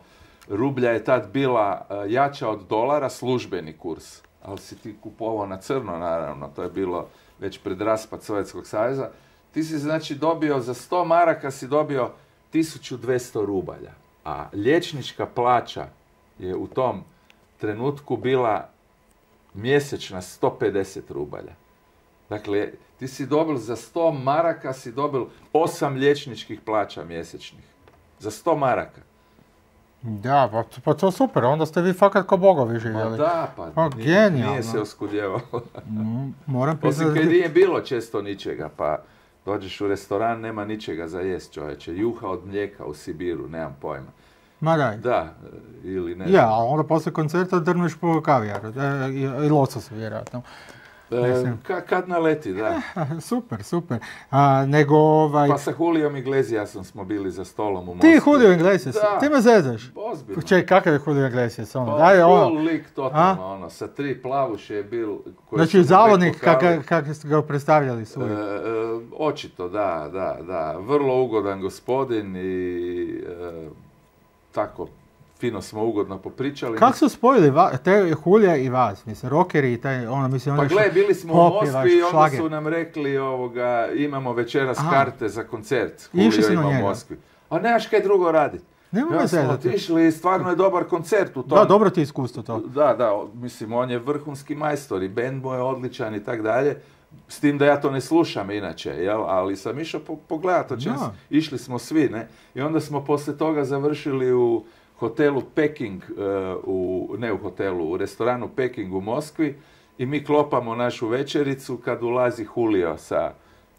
rublja je tad bila e, jača od dolara, službeni kurs, ali si ti kupovao na crno, naravno, to je bilo već pred raspad Sovjetskog saveza. Ti si znači dobio, za sto maraka si dobio tisuću dvjesto rubalja, a liječnička plaća je u tom trenutku bila mjesečna sto pedeset rubalja. Dakle, ti si dobil za sto maraka si dobil osam liječničkih plaća mjesečnih. Za sto maraka. Da, pa, pa to super, onda ste vi fakat ko bogovi Ma živjeli. da, pa Pa, nije, genijalno. nije se oskudjevalo. Mm, moram Osim kad priznati. nije bilo često ničega, pa dođeš u restoran, nema ničega za jest, čovječe. Juha od mlijeka u Sibiru, nemam pojma. Ma daj. Da, ili ne. Ja, a onda poslije koncerta drneš po kavijaru, e, i, i losos vjerojatno. E, mislim. ka- kad naleti, da. Super, super. A, nego ovaj... Pa sa Julijom Iglesiasom smo bili za stolom u Moskvi. Ti Julio Iglesias, Da. ti me zezaš. Ozbiljno. Čekaj, kakav je Julio Iglesias? Ono? Pa, Daj, ono. full lik totalno, ono, sa tri plavuše je bil... koji Znači, su mu zavodnik, back vokali. kak, kak ste ga predstavljali su. E, e, očito, da, da, da. Vrlo ugodan gospodin i e, tako, fino smo ugodno popričali. Kako su spojili va, te Julija i vas? Mislim, rockeri i taj, ono, mislim, Pa ono gle, bili smo u pop je Moskvi i vaš onda šlager. su nam rekli ovoga, imamo večeras Aha. karte za koncert. Išli Julio si na ima u njega? Moskvi. A nemaš kaj drugo raditi. Nema Ja me smo zezati. otišli i stvarno je dobar koncert u tom. Da, dobro ti je iskustvo to. Da, da, o- mislim, on je vrhunski majstor i bend mu je odličan i tak dalje. S tim da ja to ne slušam inače, jel? Ali sam išao po, pogledat o čem Da. s- išli smo svi, ne? I onda smo poslije toga završili u hotelu Peking, e, u, ne u hotelu, u restoranu Peking u Moskvi i mi klopamo našu večericu kad ulazi Julio sa...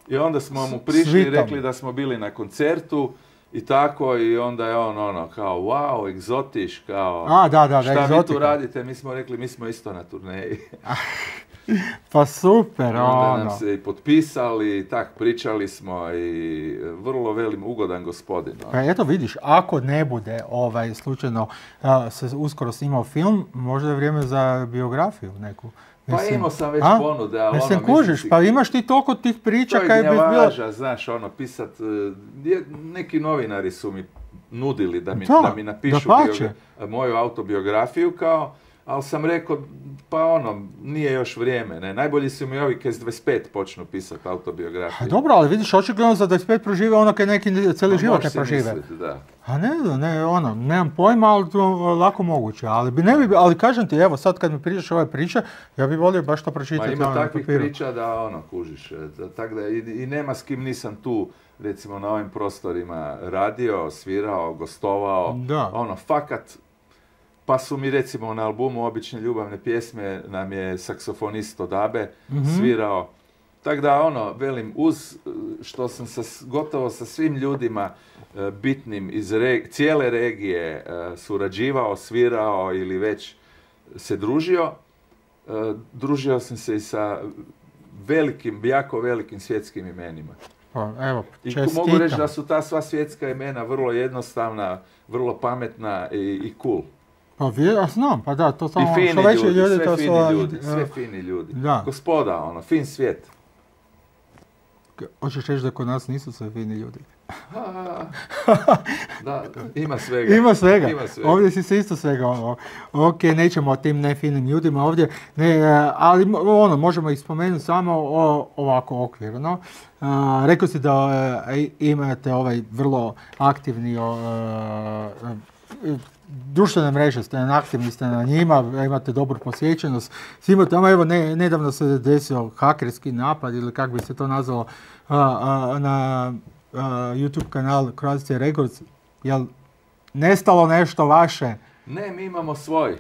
I onda smo mu prišli i Svitom. rekli da smo bili na koncertu i tako i onda je on ono kao wow, egzotiš, kao... A, da, da, da, Šta vi tu egzotika. radite? Mi smo rekli, mi smo isto na turneji. Pa super, I onda ono. nam se i potpisali, i tak pričali smo i vrlo velim ugodan gospodin. ono. Pa eto vidiš, ako ne bude ovaj slučajno a, se uskoro snimao film, možda je vrijeme za biografiju neku. Pa imao sam već a? ponude, ali Mislim, ono, kužiš, si- pa imaš ti toliko tih priča to je kaj bi bilo... gnjavaža, znaš, ono, pisat, e, je- neki novinari su mi nudili da mi, Da, da mi napišu dapače. biogra- moju autobiografiju kao, ali sam rekao, pa ono, nije još vrijeme, ne, najbolji su mi ovi kaj s dvadeset pet počnu pisati A autobiografiju. dobro, ali vidiš, očigledno za dvadeset pet prožive ono kaj neki cijeli Pa život možeš ne si prožive. misliti, da. A ne znam, ne, ono, nemam pojma, ali to je lako moguće. Ali, bi, ne bi, ali kažem ti, evo, sad kad mi pričaš ove priče, ja bi volio baš to Ma pročitati ima ono, na takvih papiru. priča da ono, kužiš, e, da, tak da, i, i nema s kim nisam tu, recimo na ovim prostorima radio, svirao, gostovao, Da. ono, fakat, pa su mi recimo na albumu Obične ljubavne pjesme nam je saksofonist od Abe Mhm. svirao, tako da ono, velim, uz e, što sam sa, s- gotovo sa svim ljudima e, bitnim iz re- cijele regije e, surađivao, svirao ili već se družio, e, družio sam se i sa velikim, jako velikim svjetskim imenima. Pa, evo, I čestitam. mogu reći da su ta sva svjetska imena vrlo jednostavna, vrlo pametna i, i cool. Pa vi, ja znam, pa da, to I samo fini što veći ljudi, ljudi, sve to fini su... ljudi, e, sve fini ljudi. Da. Gospoda, ono, fin svijet. Hoćeš reći da kod nas nisu sve fini ljudi? Da, ima svega. Ima svega. Ima svega. Ovdje si se isto svega. Ono. Ok, nećemo o tim nefinim ljudima ovdje, ne, e, ali mo- ono, možemo ih spomenuti samo o, ovako okvirno. A, rekao si da e, imate ovaj vrlo aktivni o, e, e, društvene mreže, ste aktivni ste na njima, imate dobru posjećenost. Svima tamo, evo, ne, nedavno se desio hakerski napad ili kako bi se to nazvalo a, a, na a, YouTube kanal Croatia Records. Jel nestalo nešto vaše? Ne, mi imamo svoj. E,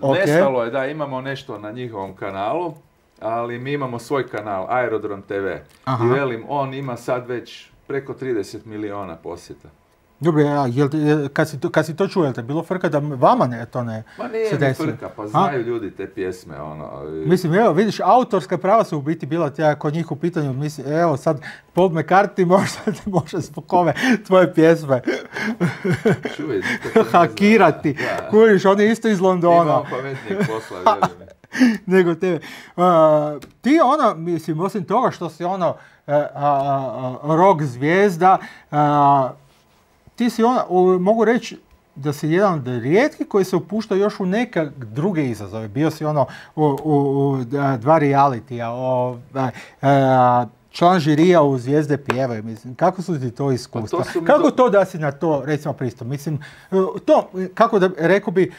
Ok. Nestalo je da imamo nešto na njihovom kanalu, ali mi imamo svoj kanal, Aerodrom te ve. Aha. I velim, on ima sad već preko trideset miliona posjeta. Dobro, ja, jel, jel, kad, si to, kad si to čuo, jel te bilo frka da vama ne, to ne Ma nije se mi desilo? frka, pa znaju a? ljudi te pjesme, ono. I... Mislim, evo, vidiš, autorska prava su u biti bila tja kod njih u pitanju, mislim, evo sad Paul McCartney možda te može zbog ove tvoje pjesme Čuj, hakirati. Kuriš, on je isto iz Londona. Imam pametnijeg posla, vjerujem mi. Nego tebe. Uh, ti ono, mislim, osim toga što si ono uh, uh, uh, rock zvijezda, uh, ti si ono, uh, mogu reći da si jedan od rijetkih koji se upušta još u neke druge izazove. Bio si ono u, u, u dva realitija, o, uh, uh, član žirija u Zvijezde pjevaju, mislim, kako su ti to iskustva? Pa to kako do... to da si na to, recimo, pristup? Mislim, uh, to, kako da, rekao bi,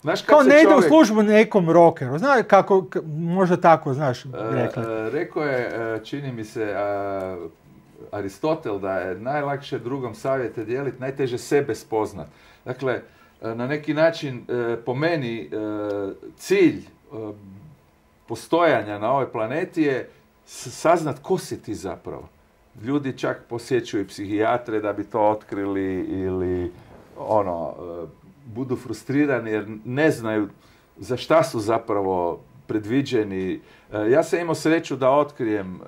znaš, kao ne čovjek... ide u službu nekom rockeru, znaš kako, k- možda tako, znaš, rekli. Uh, uh, rekao je, uh, čini mi se, uh, Aristotel da je najlakše drugom savjete dijeliti, najteže sebe spoznat. Dakle, uh, na neki način, uh, po meni, uh, cilj uh, postojanja na ovoj planeti je saznat ko si ti zapravo. Ljudi čak posjećuju psihijatre da bi to otkrili ili ono... Uh, budu frustrirani jer ne znaju za šta su zapravo predviđeni. E, ja sam imao sreću da otkrijem e,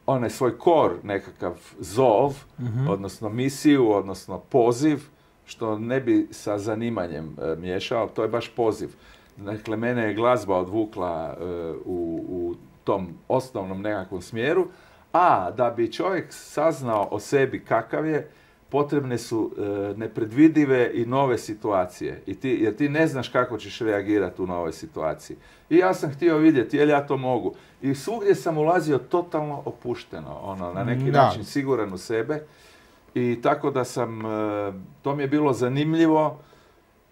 onaj svoj kor, nekakav zov, mm-hmm. odnosno misiju, odnosno poziv, što ne bi sa zanimanjem e, miješao, to je baš poziv. Dakle, mene je glazba odvukla e, u, u tom osnovnom nekakvom smjeru, a da bi čovjek saznao o sebi kakav je, potrebne su e, nepredvidive i nove situacije. I ti, jer ti ne znaš kako ćeš reagirati u novoj situaciji. I ja sam htio vidjeti, jel ja to mogu. I svugdje sam ulazio totalno opušteno, ono, na neki da. način siguran u sebe. I tako da sam, e, to mi je bilo zanimljivo.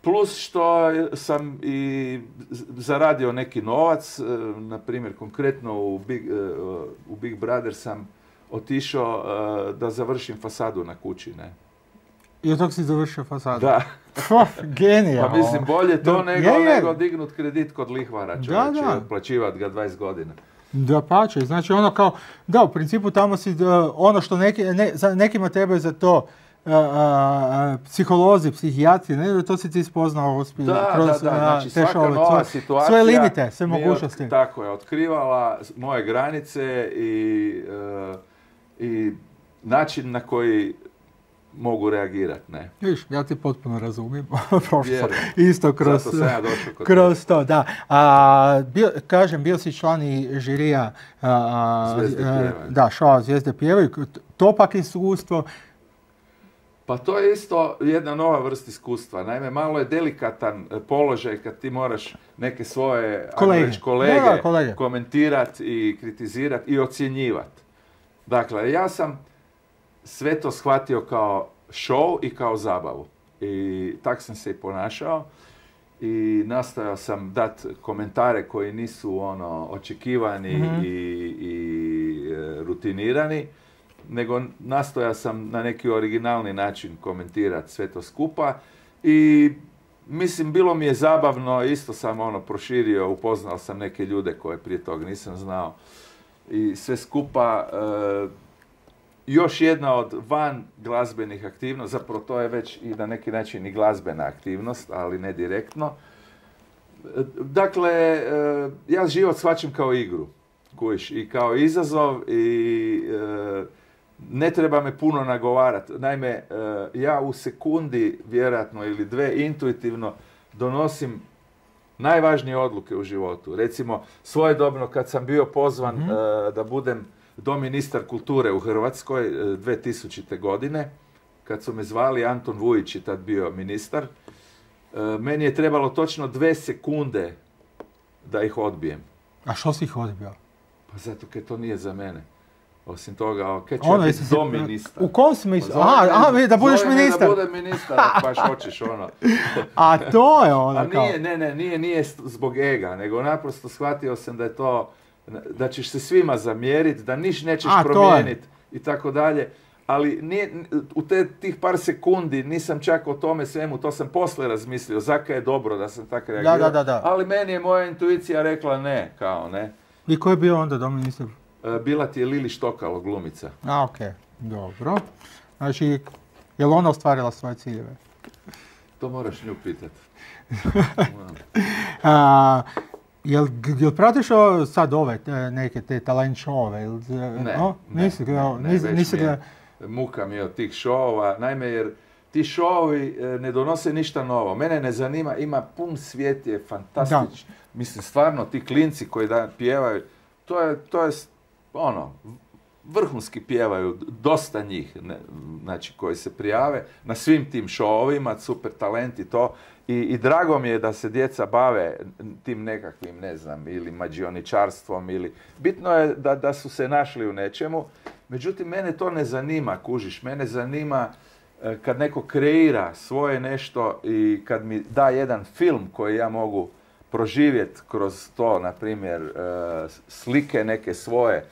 Plus što sam i zaradio neki novac, e, na primjer konkretno u Big, e, u Big Brother sam otišao uh, da završim fasadu na kući, ne. I od tog si završio fasadu? Da. Genijalno. Pa mislim, bolje to da, nego, je, je. nego dignut kredit kod lihvara, čovječe, da, da. Otplaćivat ga dvadeset godina. Da pače, znači ono kao, da, u principu tamo si, uh, ono što neki, ne, za nekima trebaju za to uh, uh, psiholozi, psihijatri, ne, to si ti spoznao uspije, da, kroz da, da, znači svaka šove, nova svoje, situacija svoje limite, sve mogućnosti. Od, tako je, otkrivala moje granice i, uh, i način na koji mogu reagirati, ne. Viš, ja ti potpuno razumijem, prošlo isto kroz, Zato sam ja došao kod kroz to, da. A, bio, kažem, bio si član i žirija a, Zvijezde a, pjevaju. Da, šova Zvijezde pjevaju. To pak iskustvo. Pa to je isto jedna nova vrsta iskustva. Naime, malo je delikatan položaj kad ti moraš neke svoje kolege, reći, kolege, da, kolege. komentirati i kritizirati i ocjenjivati. Dakle, ja sam sve to shvatio kao show i kao zabavu. I tak sam se i ponašao. I nastojao sam dati komentare koji nisu ono očekivani mm-hmm. i, i e, rutinirani, nego nastojao sam na neki originalni način komentirati sve to skupa. I mislim, bilo mi je zabavno, isto sam ono proširio, upoznao sam neke ljude koje prije toga nisam znao. I sve skupa, e, još jedna od van glazbenih aktivnosti, zapravo to je već i na neki način i glazbena aktivnost, ali ne direktno. Dakle, ja život shvaćam kao igru, kužiš, i kao izazov i ne treba me puno nagovarati. Naime, ja u sekundi, vjerojatno ili dve, intuitivno donosim najvažnije odluke u životu. Recimo, svojedobno kad sam bio pozvan mm. da budem doministar kulture u Hrvatskoj dve tisućite. godine, kad su me zvali, Anton Vujić je tad bio ministar, meni je trebalo točno dve sekunde da ih odbijem. A što si ih odbio? Pa zato kaj to nije za mene. Osim toga, kaj ću ja biti doministar? U kom smislu? Aha, aha, da budeš ministar. Da budem ministar, ako baš hoćeš ono. A to je ono A nije, ne, ne, nije, nije zbog ega, nego naprosto shvatio sam da je to, da ćeš se svima zamjeriti, da niš nećeš promijeniti i tako dalje. Ali nije, u te, tih par sekundi nisam čak o tome svemu, to sam posle razmislio, zakaj je dobro da sam tako reagirao. Da, da, da, da. Ali meni je moja intuicija rekla ne, kao ne. I ko je bio onda doministar? bila ti je Lili Štokalo, glumica. A, okej, okay. Dobro. Znači, je li ona ostvarila svoje ciljeve? To moraš nju pitati. A, jel, jel pratiš o, sad ove te, neke te talent showove? Ne, o, ne, nisi, ne, ne, nisi, već nisi mi je muka mi je od tih šovova. Naime, jer ti šovovi ne donose ništa novo. Mene ne zanima, ima pun svijet, je fantastičan. Mislim, stvarno, ti klinci koji da pjevaju, to je, to je ono, vrhunski pjevaju, dosta njih, ne, znači, koji se prijave na svim tim šovovima, super talent i to. I, I drago mi je da se djeca bave tim nekakvim, ne znam, ili mađioničarstvom, ili... Bitno je da, da su se našli u nečemu. Međutim, mene to ne zanima, kužiš. Mene zanima e, kad neko kreira svoje nešto i kad mi da jedan film koji ja mogu proživjeti kroz to, na primjer, e, slike neke svoje.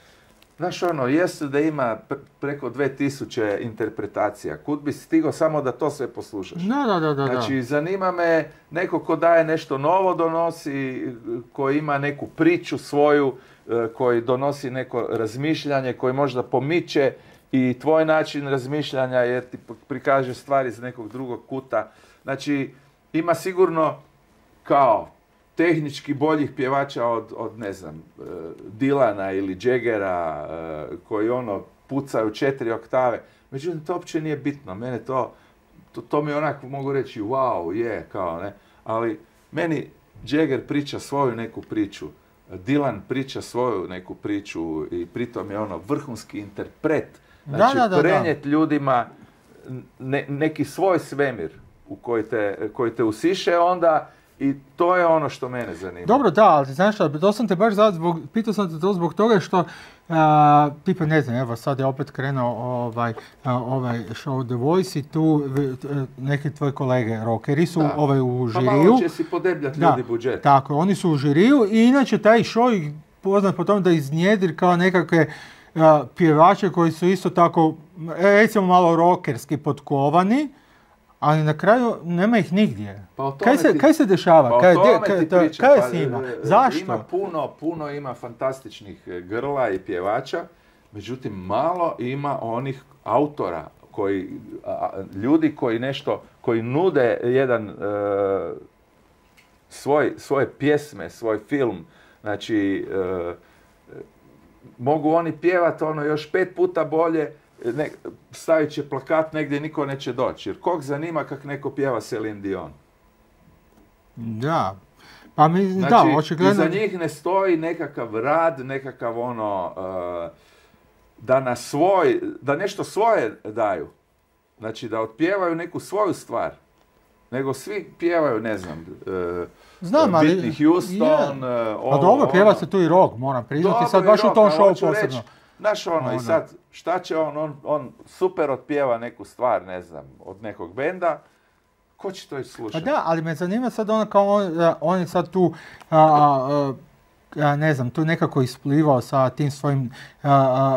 Znaš ono, jesu da ima preko dve tisuće interpretacija. Kud bi stigao samo da to sve poslušaš? Da, da, da, da. Znači, zanima me neko ko daje nešto novo donosi, koji ima neku priču svoju, koji donosi neko razmišljanje, koji možda pomiče i tvoj način razmišljanja jer ti prikaže stvari iz nekog drugog kuta. Znači, ima sigurno kao tehnički boljih pjevača od, od ne znam, Dilana ili Jaggera, koji ono pucaju četiri oktave. Međutim, to uopće nije bitno. Mene to, to, to mi onako mogu reći, wow, je, kao, ne. Ali meni Jagger priča svoju neku priču, Dylan priča svoju neku priču i pritom je ono vrhunski interpret. Znači, da, da, da, prenijet ljudima ne, neki svoj svemir u koji te, koji te usiše onda. I to je ono što mene zanima. Dobro, da, ali znaš što, to sam te baš zato zbog, pitao sam te to zbog toga što, a, tipa ne znam, evo sad je opet krenuo ovaj, a, ovaj show The Voice i tu neki tvoji kolege rockeri su da. ovaj, u žiriju. Pa malo će si podebljati ljudi budžet. Tako, oni su u žiriju i inače taj show ih poznat po tome da iznjedri kao nekakve a, pjevače koji su isto tako, recimo malo rockerski potkovani, ali na kraju nema ih nigdje. Pa kaj, se, ti, kaj se dešava? Pa kaj, kaj, kaj, kaj je s njima? Pa, zašto? Ima puno, puno ima fantastičnih grla i pjevača, međutim malo ima onih autora, koji, a, ljudi koji nešto, koji nude jedan e, svoj, svoje pjesme, svoj film. Znači, e, mogu oni pjevati ono još pet puta bolje, ne, stavit će plakat negdje, niko neće doći. Jer kog zanima kak neko pjeva Celine Dion? Da. Pa mi, znači, da, očigledno... iza njih ne stoji nekakav rad, nekakav ono, uh, da na svoj, da nešto svoje daju. Znači, da otpjevaju neku svoju stvar. Nego svi pjevaju, ne znam, uh, Znam, ali... Whitney Houston, yeah. uh, ovo, pa dobro, pjeva ono. Se tu i rock, moram priznati, sad baš rock, u tom showu posebno. Reći, znaš ono, ono, i sad, šta će on, on, on super otpjeva neku stvar, ne znam, od nekog benda, ko će to i slušati? Pa da, ali me zanima sad ono kao on, on je sad tu, a, a, a, ne znam, tu nekako isplivao sa tim svojim a,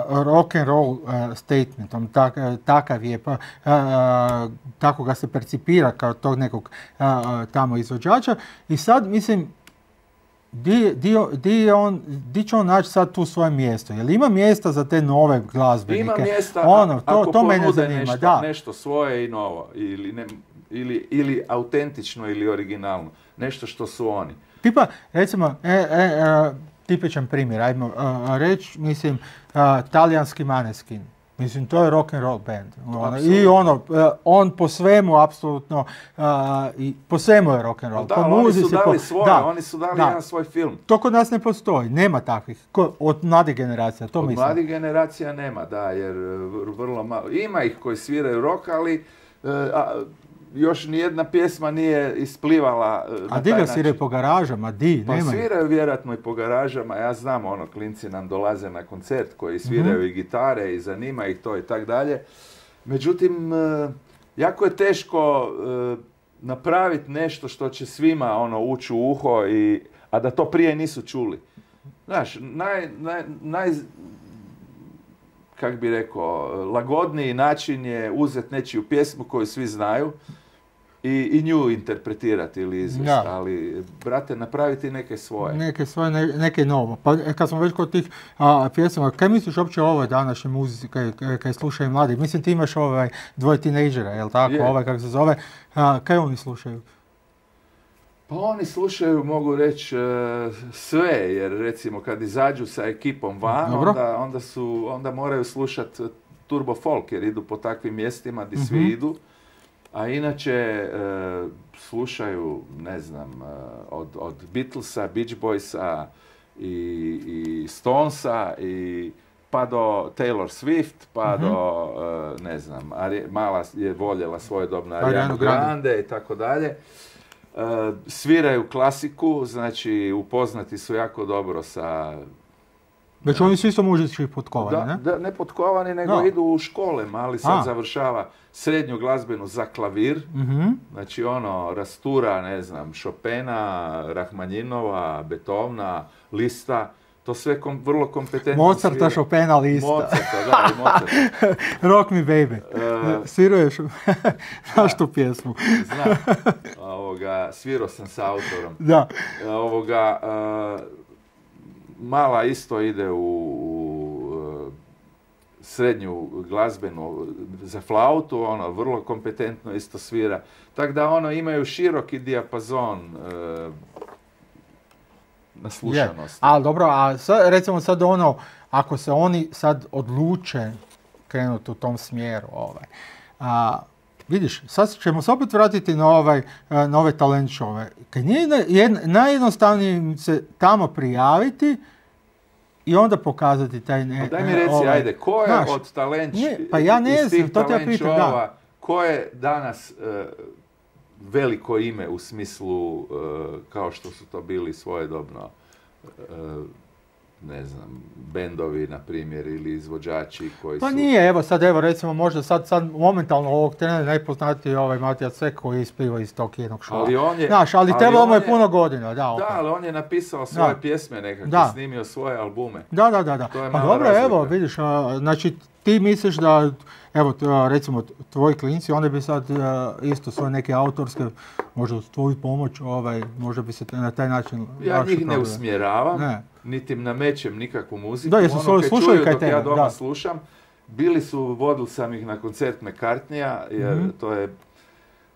a, rock and roll a, statementom, tak, a, takav je, pa, a, a, tako ga se percipira kao tog nekog a, a, tamo izvođača i sad, mislim, Di, di, di, on, di će on naći sad tu svoje mjesto? Jel ima mjesta za te nove glazbenike? Ima mjesta ono, to, ako to mene ponude zanima, nešto, da. nešto svoje i novo. Ili, ne, ili, ili autentično ili originalno. Nešto što su oni. Tipa, recimo, e, e, e, tipičan primjer, ajmo reći, mislim, a, talijanski Maneskin. Mislim, to je rock and roll band. Ono, i ono, on po svemu, apsolutno, uh, i po svemu je rock and roll. Da, po oni su dali po, svoje, da, oni su dali da. jedan svoj film. To kod nas ne postoji, nema takvih. Ko, od mladih generacija, to od mislim. Od mladih generacija nema, da, jer vrlo malo. Ima ih koji sviraju rock, ali uh, a, još nijedna pjesma nije isplivala uh, na a di taj ga način. sviraju po garažama, di, Pa nema. sviraju vjerojatno i po garažama, ja znam, ono, klinci nam dolaze na koncert koji sviraju mm-hmm. i gitare i zanima ih to i tak dalje. Međutim, uh, jako je teško uh, napraviti nešto što će svima ono ući u uho, i, a da to prije nisu čuli. Znaš, naj, naj, naj kak bi rekao, lagodniji način je uzeti nečiju pjesmu koju svi znaju i, i nju interpretirati ili izvesti, Da. ali, brate, napraviti neke svoje. Neke svoje, ne, neke novo. Pa e, kad smo već kod tih a, pjesama, kaj misliš uopće o ovoj današnjoj muzici, kaj, kaj, kaj slušaju mladi? Mislim, ti imaš ovaj dvoje tinejdžera, jel tako? Je. Ovaj, kako se zove. A, kaj oni slušaju? Pa oni slušaju, mogu reći, e, sve, jer recimo kad izađu sa ekipom van, Dobro. onda, onda, su, onda moraju slušati turbo folk, jer idu po takvim mjestima gdje svi Mhm. idu. A inače, e, slušaju, ne znam, e, od, od Beatlesa, Beach Boysa i, i Stonesa, i, pa do Taylor Swift, pa Mhm. do, e, ne znam, Ari- mala je voljela svojedobno Arianu Arianu Grande. Grande i tako dalje. E, sviraju klasiku, znači upoznati su jako dobro sa... Već oni su isto muzički potkovani, Da, ne? da, ne potkovani, nego Da. idu u škole, ali sad A. završava srednju glazbenu za klavir. Mhm. Znači ono, rastura, ne znam, Chopina, Rahmanjinova, Beethovena, Lista, to sve kom, vrlo kompetentno Mozarta, svira. Chopina, Lista. Mozarta, da, i Mozarta. Rock me baby. E, Sviruješ, znaš tu pjesmu. znam, ovoga, svirao sam sa autorom. Da. E, Ovoga, e, mala isto ide u, u e, srednju glazbenu za flautu, ono, vrlo kompetentno isto svira. Tako da ono, imaju široki dijapazon e, naslušanosti. Ali dobro, a sad, recimo sad ono, ako se oni sad odluče krenuti u tom smjeru, ovaj, a, vidiš, sad ćemo se opet vratiti na, ovaj, a, na ove talent showove. Kad nije na- jed- najjednostavnije im se tamo prijaviti i onda pokazati taj ne... Pa daj mi e, reci, ovaj, ajde, ko je znaš, od talent, ne, pa ja ne iz tih znam, to te ja talent pitam, da. showova, ko je danas e, veliko ime u smislu, e, kao što su to bili svojedobno, e, ne znam, bendovi, na primjer, ili izvođači koji Pa su... nije, evo sad, evo recimo možda sad, sad momentalno ovog trena najpoznatiji je ovaj Matija Cvek koji je ispliva iz tog jednog šova. Ali on je... Znaš, ali ali trebalo mu on je puno godina, da, opet. Da, ali on je napisao svoje Da. pjesme nekakve, Da. snimio svoje albume. Da, da, da, da. To je Pa mala dobro, razlika. evo, vidiš, a, znači ti misliš da, evo, t- a, recimo, t- tvoji klinci, oni bi sad a, isto svoje neke autorske, možda uz tvoju pomoć, ovaj, možda bi se t- na taj način Ja lakše njih ne probili. usmjeravam, Ne. niti im namećem nikakvu muziku. Da, jesu Ono svoju kaj slušaju čuju kaj dok ja tebe, doma da. slušam. Bili su, vodil sam ih na koncert McCartneya, jer Mhm. to je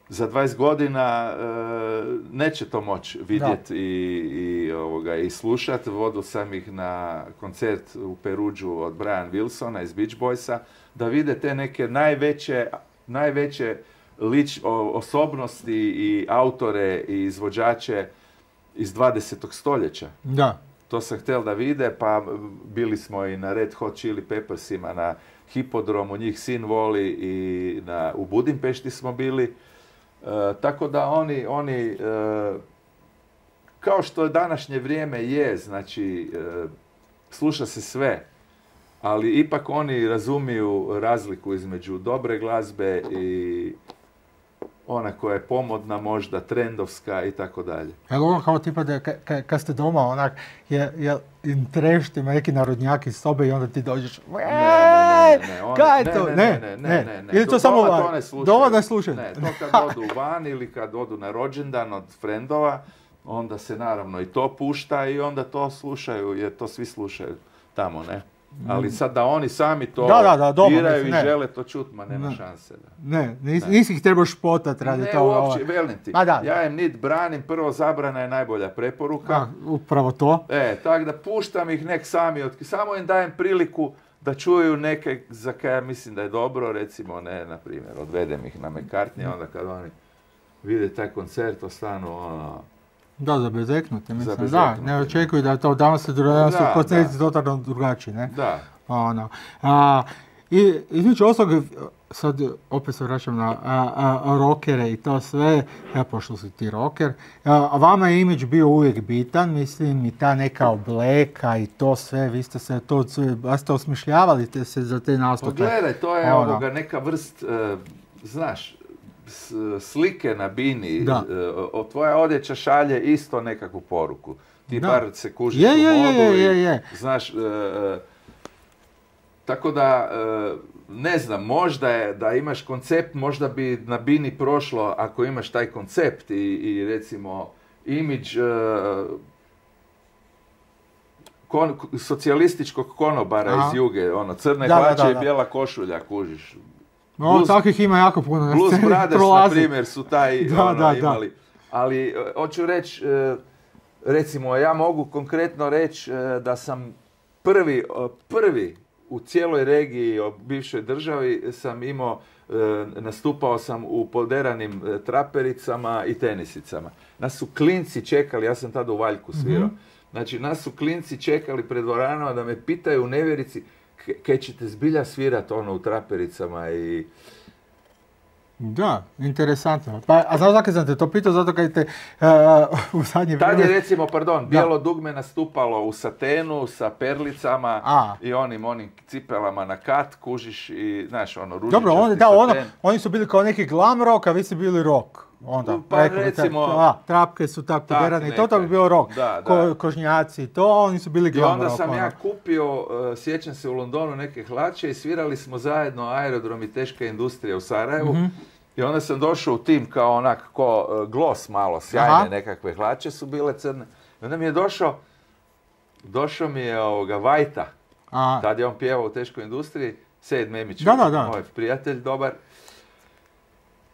za dvadeset godina e, neće to moći vidjeti i, i, ovoga, i slušati. Vodil sam ih na koncert u Peruđu od Brian Wilsona iz Beach Boysa, da vide te neke najveće, najveće lič, o- osobnosti i autore i izvođače iz dvadesetog stoljeća. Da. To sam htjel da vide, pa bili smo i na Red Hot Chili Peppersima, na Hipodromu, njih sin voli, i na, u Budimpešti smo bili. E, tako da oni, oni e, kao što današnje vrijeme je, znači, e, sluša se sve, ali ipak oni razumiju razliku između dobre glazbe i ona koja je pomodna, možda trendovska i tako dalje. Evo ono kao tipa da ka- ka- kad ste doma onak, je, je im trešti neki narodnjak iz sobe i onda ti dođeš, Ne, ne, ne, ne, one- kaj je ne, to? ne, Ne, ne, ne, ne. ne, ne. Ili to Do- samo doma van? to ne slušaju. Doma ne slušaju? Ne, to kad odu van ili kad odu na rođendan od frendova, onda se naravno i to pušta i onda to slušaju, jer to svi slušaju tamo, ne? Ali sad da oni sami to Da, da, da, doma, biraju mislim, i ne. žele to čut, ma nema Ne. šanse. Da. Ne, nis, Ne. nisi ih trebao špotat radi Ne, toga. uopće, ovaj. velim ti. Ma da. Ja im nit branim, prvo zabrana je najbolja preporuka. Da, upravo to. E, tako da puštam ih nek sami, otk- samo im dajem priliku da čuju neke za kaj ja mislim da je dobro, recimo, ne, na primjer, odvedem ih na McCartney, onda kad oni vide taj koncert, ostanu, ono, Da, za bezeknuti, mislim. Da, bezeknuti. ne očekuju da je to danas se danas su Da, koncerti da. totalno drugačiji, ne? da. Ono. A, I između ostalog, sad opet se vraćam na a, a, rockere i to sve, ja, pošto si ti rocker, a, a vama je imidž bio uvijek bitan, mislim, i ta neka obleka i to sve, vi ste se to, sve- baš ste osmišljavali te se za te Pa nastupe. gledaj, to je Ono. ovoga neka vrst, e, znaš, s- slike na bini, Da. e, o, tvoja odjeća šalje isto nekakvu poruku. Ti Da. bar se kužiš Je, u je, je, modu je, i, je, je. znaš, e, e, tako da, e, ne znam, možda je da imaš koncept, možda bi na Bini prošlo ako imaš taj koncept i, i recimo imidž e, kon, socijalističkog konobara Aha. iz Juge, ono, crne Da, da, hlače da, da. i bijela košulja, kužiš. O, Blues- takvih ima jako puno. na Blues sceni, Brothers, na prolazi. primjer, su taj Da, ono, da, da. imali. Ali, e, hoću reći, e, recimo, ja mogu konkretno reći e, da sam prvi, e, prvi u cijeloj regiji, o bivšoj državi, sam imao, e, nastupao sam u poderanim e, trapericama i tenisicama. Nas su klinci čekali, ja sam tada u Valjku svirao, Mhm. znači nas su klinci čekali pred dvoranama da me pitaju u nevjerici "K- kaj ćete zbilja svirat ono u trapericama i... Da, interesantno. Pa, a znaš zakaj sam te to pitao? Zato kad te uh, u zadnje Tad je vrijeme... recimo, pardon, bijelo dugme nastupalo u satenu sa perlicama A. i onim onim cipelama na kat, kužiš i, znaš, ono, ružičasti Dobro, oni, da, ono, saten. oni su bili kao neki glam rock, a vi ste bili rock. Onda, Pa rekao bi tak- recimo- a, trapke su tak Tak poderane i to, to bi neke. bio rock. Da, Ko, da. kožnjaci i to, a oni su bili I glam onda rock. sam ono. ja kupio, uh, sjećam se, u Londonu neke hlače i svirali smo zajedno Aerodrom i teška industrija u Sarajevu. Mhm. I onda sam došao u tim kao onak, ko uh, Gloss malo, sjajne Aha. nekakve hlače su bile crne. I onda mi je došao, došao mi je ovoga Vajta. A, Tad je on pjevao u teškoj industriji, Sejed Memić, Da, da, da. moj prijatelj dobar.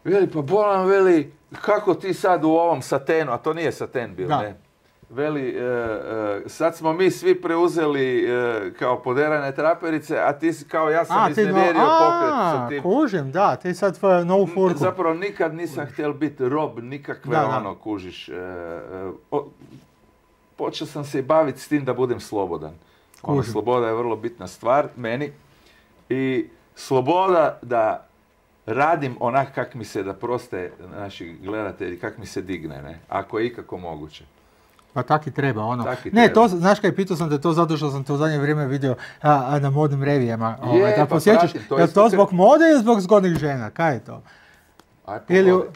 Veli, pa bolan, veli, kako ti sad u ovom satenu, a to nije saten bio, Da. ne? Veli, e, e, sad smo mi svi preuzeli e, kao poderane traperice, a ti si kao ja sam a, ti no, iznevjerio pokret sa a, tim. kužim, da, ti sad tvoju novu furku. Zapravo nikad nisam htjel biti rob nikakve Da, da. ono, kužiš. E, e, o- počeo sam se i baviti s tim da budem slobodan. Ono, Kužim. sloboda je vrlo bitna stvar meni. I sloboda da radim onak kak mi se, da proste naši gledatelji, kak mi se digne, ne? Ako je ikako moguće. Pa tak i treba, ono. Tak i Ne, treba. to, znaš kaj, pitao sam te to zato što sam te u zadnje vrijeme vidio a, a, na modnim revijama. Je, ovaj, da pa posjećaš, pratim, to je li isto to se- zbog mode ili zbog zgodnih žena? Kaj je to? Aj, Ili... pogodi.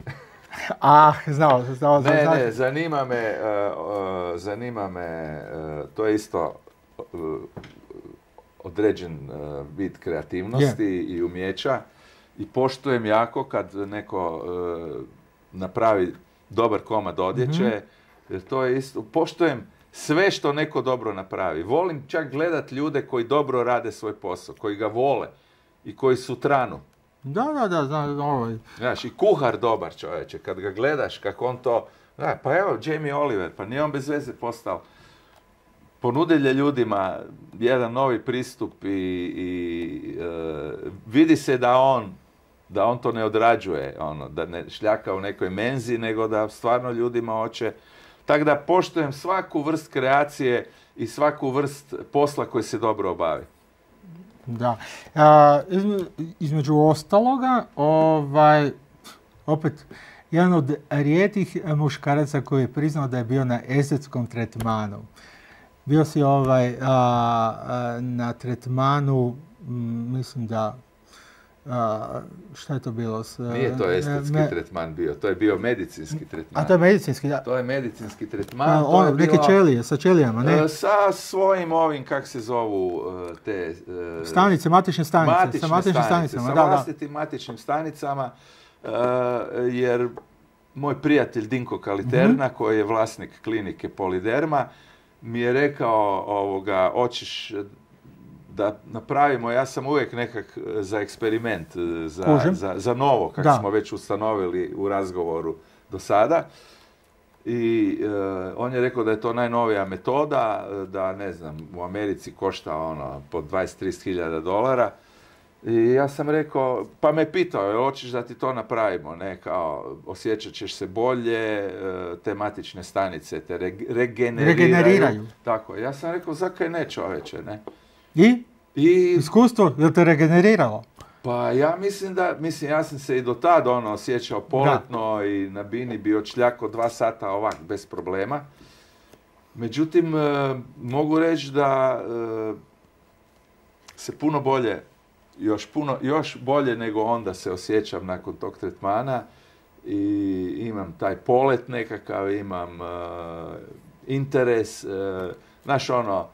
Ah, znao, znao, znao. Ne, znao. ne, zanima me, uh, uh, zanima me, uh, to je isto uh, određen uh, vid kreativnosti i umjeća i poštujem jako kad neko uh, napravi dobar komad odjeće, Mhm. jer to je isto, poštujem sve što neko dobro napravi. Volim čak gledat ljude koji dobro rade svoj posao, koji ga vole i koji su tranu. Da, da, da, znam, ovaj. Znaš, i kuhar dobar čovječe, kad ga gledaš kako on to... Da, pa evo, Jamie Oliver, pa nije on bez veze postao. Ponudilje ljudima jedan novi pristup i, i e, vidi se da on, da on to ne odrađuje, ono, da ne šljaka u nekoj menzi, nego da stvarno ljudima hoće. Tako da poštujem svaku vrst kreacije i svaku vrst posla koji se dobro obavi. Da. A, izme- između ostaloga, ovaj, opet, jedan od rijetkih muškaraca koji je priznao da je bio na estetskom tretmanu. Bio si ovaj, a, a, na tretmanu, m, mislim da, a, šta je to bilo? S, Nije to e, estetski me- tretman bio, to je bio medicinski tretman. A to je medicinski, da. To je medicinski tretman. A, to ono, je neke bilo, ćelije, sa ćelijama, ne? e, sa svojim ovim, kak se zovu, e, te... e, Stanice, matične stanice. matične sa matičnim stanice, stanicama, sa da, da. vlastitim matičnim stanicama, e, jer moj prijatelj Dinko Kaliterna, Mhm. koji je vlasnik klinike Poliderma, mi je rekao, ovoga, hoćeš da napravimo, ja sam uvijek nekak za eksperiment, za, Kužim. za, za novo, kako Da. smo već ustanovili u razgovoru do sada. I e, on je rekao da je to najnovija metoda, e, da ne znam, u Americi košta ono po dvadeset do trideset hiljada dolara. I ja sam rekao, pa me pitao, jel hoćeš da ti to napravimo, ne, kao, osjećat ćeš se bolje, e, te matične stanice te reg- regeneriraju. Regeneriraju. Tako, ja sam rekao, zakaj ne čoveče, ne? I? I, Iskustvo, je li te regeneriralo? pa ja mislim da, mislim, ja sam se i do tad ono osjećao poletno i na bini bi odšljako dva sata ovak, bez problema. Međutim, e, mogu reći da e, se puno bolje, još puno, još bolje nego onda se osjećam nakon tog tretmana i imam taj polet nekakav, imam e, interes, e, znaš ono,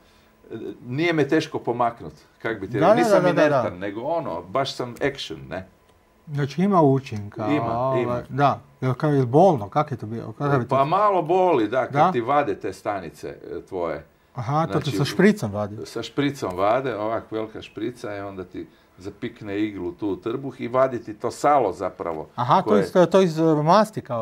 nije me teško pomaknut, kak bi ti Da, rekao, da, nisam da, da, da, inertan, da. nego ono, baš sam action, ne. Znači ima učinka. Ima, ovaj, ima. Da, jel kao je bolno, kak je to bilo? Kakav je to? Pa malo boli, da, kad Da? ti vade te stanice e, tvoje. Aha, to ti znači, sa špricom vadi. Sa špricom vade, ovak velika šprica i onda ti zapikne iglu tu u trbuh i vadi ti to salo zapravo. Aha, to, koje- iz, to, to iz uh, masti kao,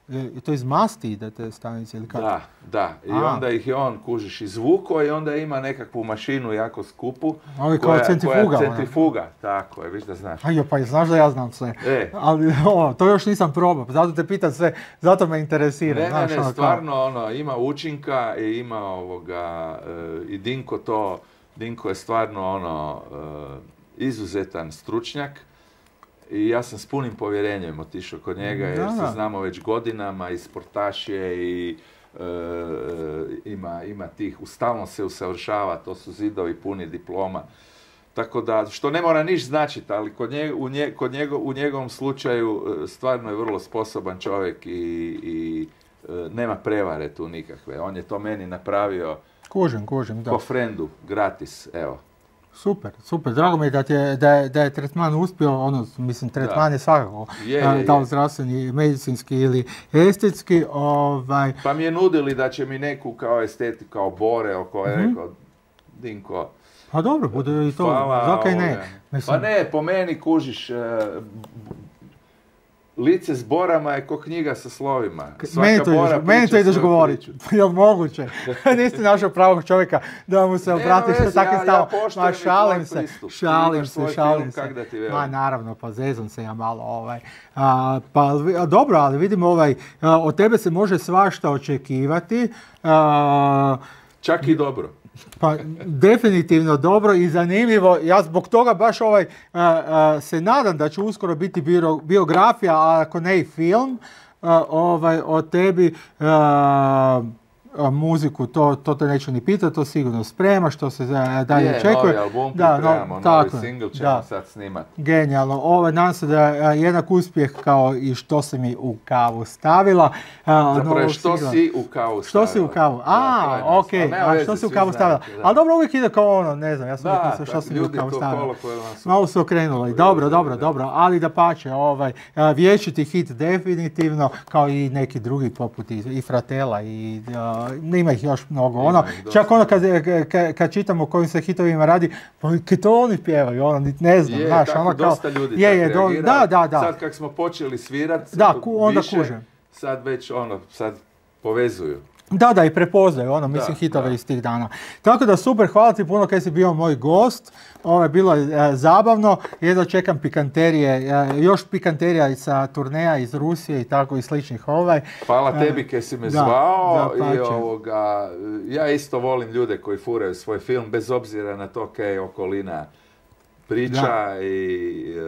uh, je- to iz masti ide te stanice ili kako? Da, da. I A. onda ih je on, kužiš, izvuko i onda ima nekakvu mašinu jako skupu. Ovi kao koja- centrifuga, koja je ona. centrifuga, tako je, viš da znaš. Ajo, pa znaš da ja znam sve. E. Ali o, to još nisam probao, zato te pitam sve, zato me interesira. Ne, ne, znaš, ne, ono, kao- stvarno, ono, ima učinka i ima ovoga, e, i Dinko to, Dinko je stvarno, ono, e, izuzetan stručnjak i ja sam s punim povjerenjem otišao kod njega jer Da, se da. znamo već godinama i sportaš je i e, ima, ima tih, stalno se usavršava, to su zidovi puni diploma. Tako da, što ne mora niš značiti, ali kod, nje, u, nje, kod njego, u njegovom slučaju e, stvarno je vrlo sposoban čovjek i, i e, nema prevare tu nikakve. On je to meni napravio Kužim, kužim, da. ko frendu, gratis, evo. Super, super. Drago mi je da, ti je, da, je, da je tretman uspio, ono, mislim, tretman je svakako, Je, a, je, da li je. zdravstveni, medicinski ili estetski, ovaj, Pa mi je nudili da će mi neku kao estetik, kao bore, oko je Mhm. rekao, Dinko, pa dobro, bude i to, hvala, zakaj ne? ovoga. Mislim, Pa ne, po meni kužiš, e, lice s borama je ko knjiga sa slovima. Svaka meni to ideš, bora meni to priča ideš svoju govoriti, priču. jel moguće? Nisi našao pravog čovjeka da mu se Nema obratiš sa veze, takvim ja- ja stavom. poštujem Ma i tvoj šalim se, pristup. Ti šalim imaš se, svoj šalim film, se. kak da ti velim. Ma naravno, pa zezam se ja malo ovaj. A, pa vi- a, dobro, ali vidimo ovaj, a, od tebe se može svašta očekivati. A, Čak i dobro. Pa definitivno dobro i zanimljivo. Ja zbog toga baš ovaj a, a, se nadam da će uskoro biti bio- biografija, a ako ne i film, a, ovaj, o tebi. a, a, muziku, to, to te neću ni pitati, to sigurno sprema, što se a, dalje Je, očekuje. novi album Da, no, pripremamo, novi tako je, single ćemo da. sad snimat. Genijalno. Ovo, nadam se da je a, jednak uspjeh kao i što si mi u kavu stavila. A, Zapravo je novog što singla. si u kavu Što stavila. si u kavu? Da, to je A, nas. ok. Ali nema A veze, što si u svi kavu stavila? znate, da. Ali dobro, uvijek ide kao ono, ne znam, ja sam Da, rekao što da, si mi u ljudi kavu to stavila. kolokvijalno su- Malo su okrenuli. Dobro, dobro, dobro. Ali da pače, ovaj, a, vječiti hit definitivno, kao i neki drugi poput i, i Fratela i a, ima ih još mnogo. Ima Ono, ih dosta. čak ono kad, kad, kad čitamo o kojim se hitovima radi, pa kad to oni pjevaju, ono, nit ne znam, Je, znaš, tako ono kao... dosta ljudi je, tak je, do- reagira. da, da, da. Sad kak smo počeli svirat, Da, ku- onda više, kužem. sad već ono, sad povezuju. Da, da, i prepoznaju, ono, mislim, Da, hitove da. iz tih dana. Tako da, super, hvala ti puno kaj si bio moj gost. Ovo je bilo e, zabavno. Jedno čekam pikanterije, e, još pikanterija i sa turneja iz Rusije i tako i sličnih ovaj. Hvala E, tebi kaj si me da, zvao i dapače. ovoga, ja isto volim ljude koji furaju svoj film bez obzira na to kaj je okolina priča Da. i e,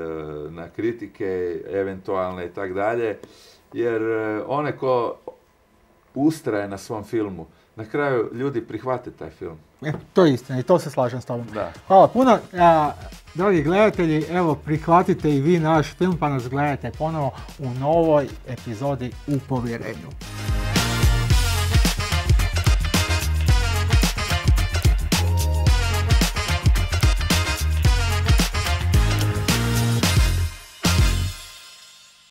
na kritike eventualne i tak dalje, jer e, one ko ustraje na svom filmu, na kraju ljudi prihvate taj film. E, to je istina i to se slažem s tobom. Da. Hvala puno. A, dragi gledatelji, evo prihvatite i vi naš film pa nas gledajte ponovo u novoj epizodi U povjerenju.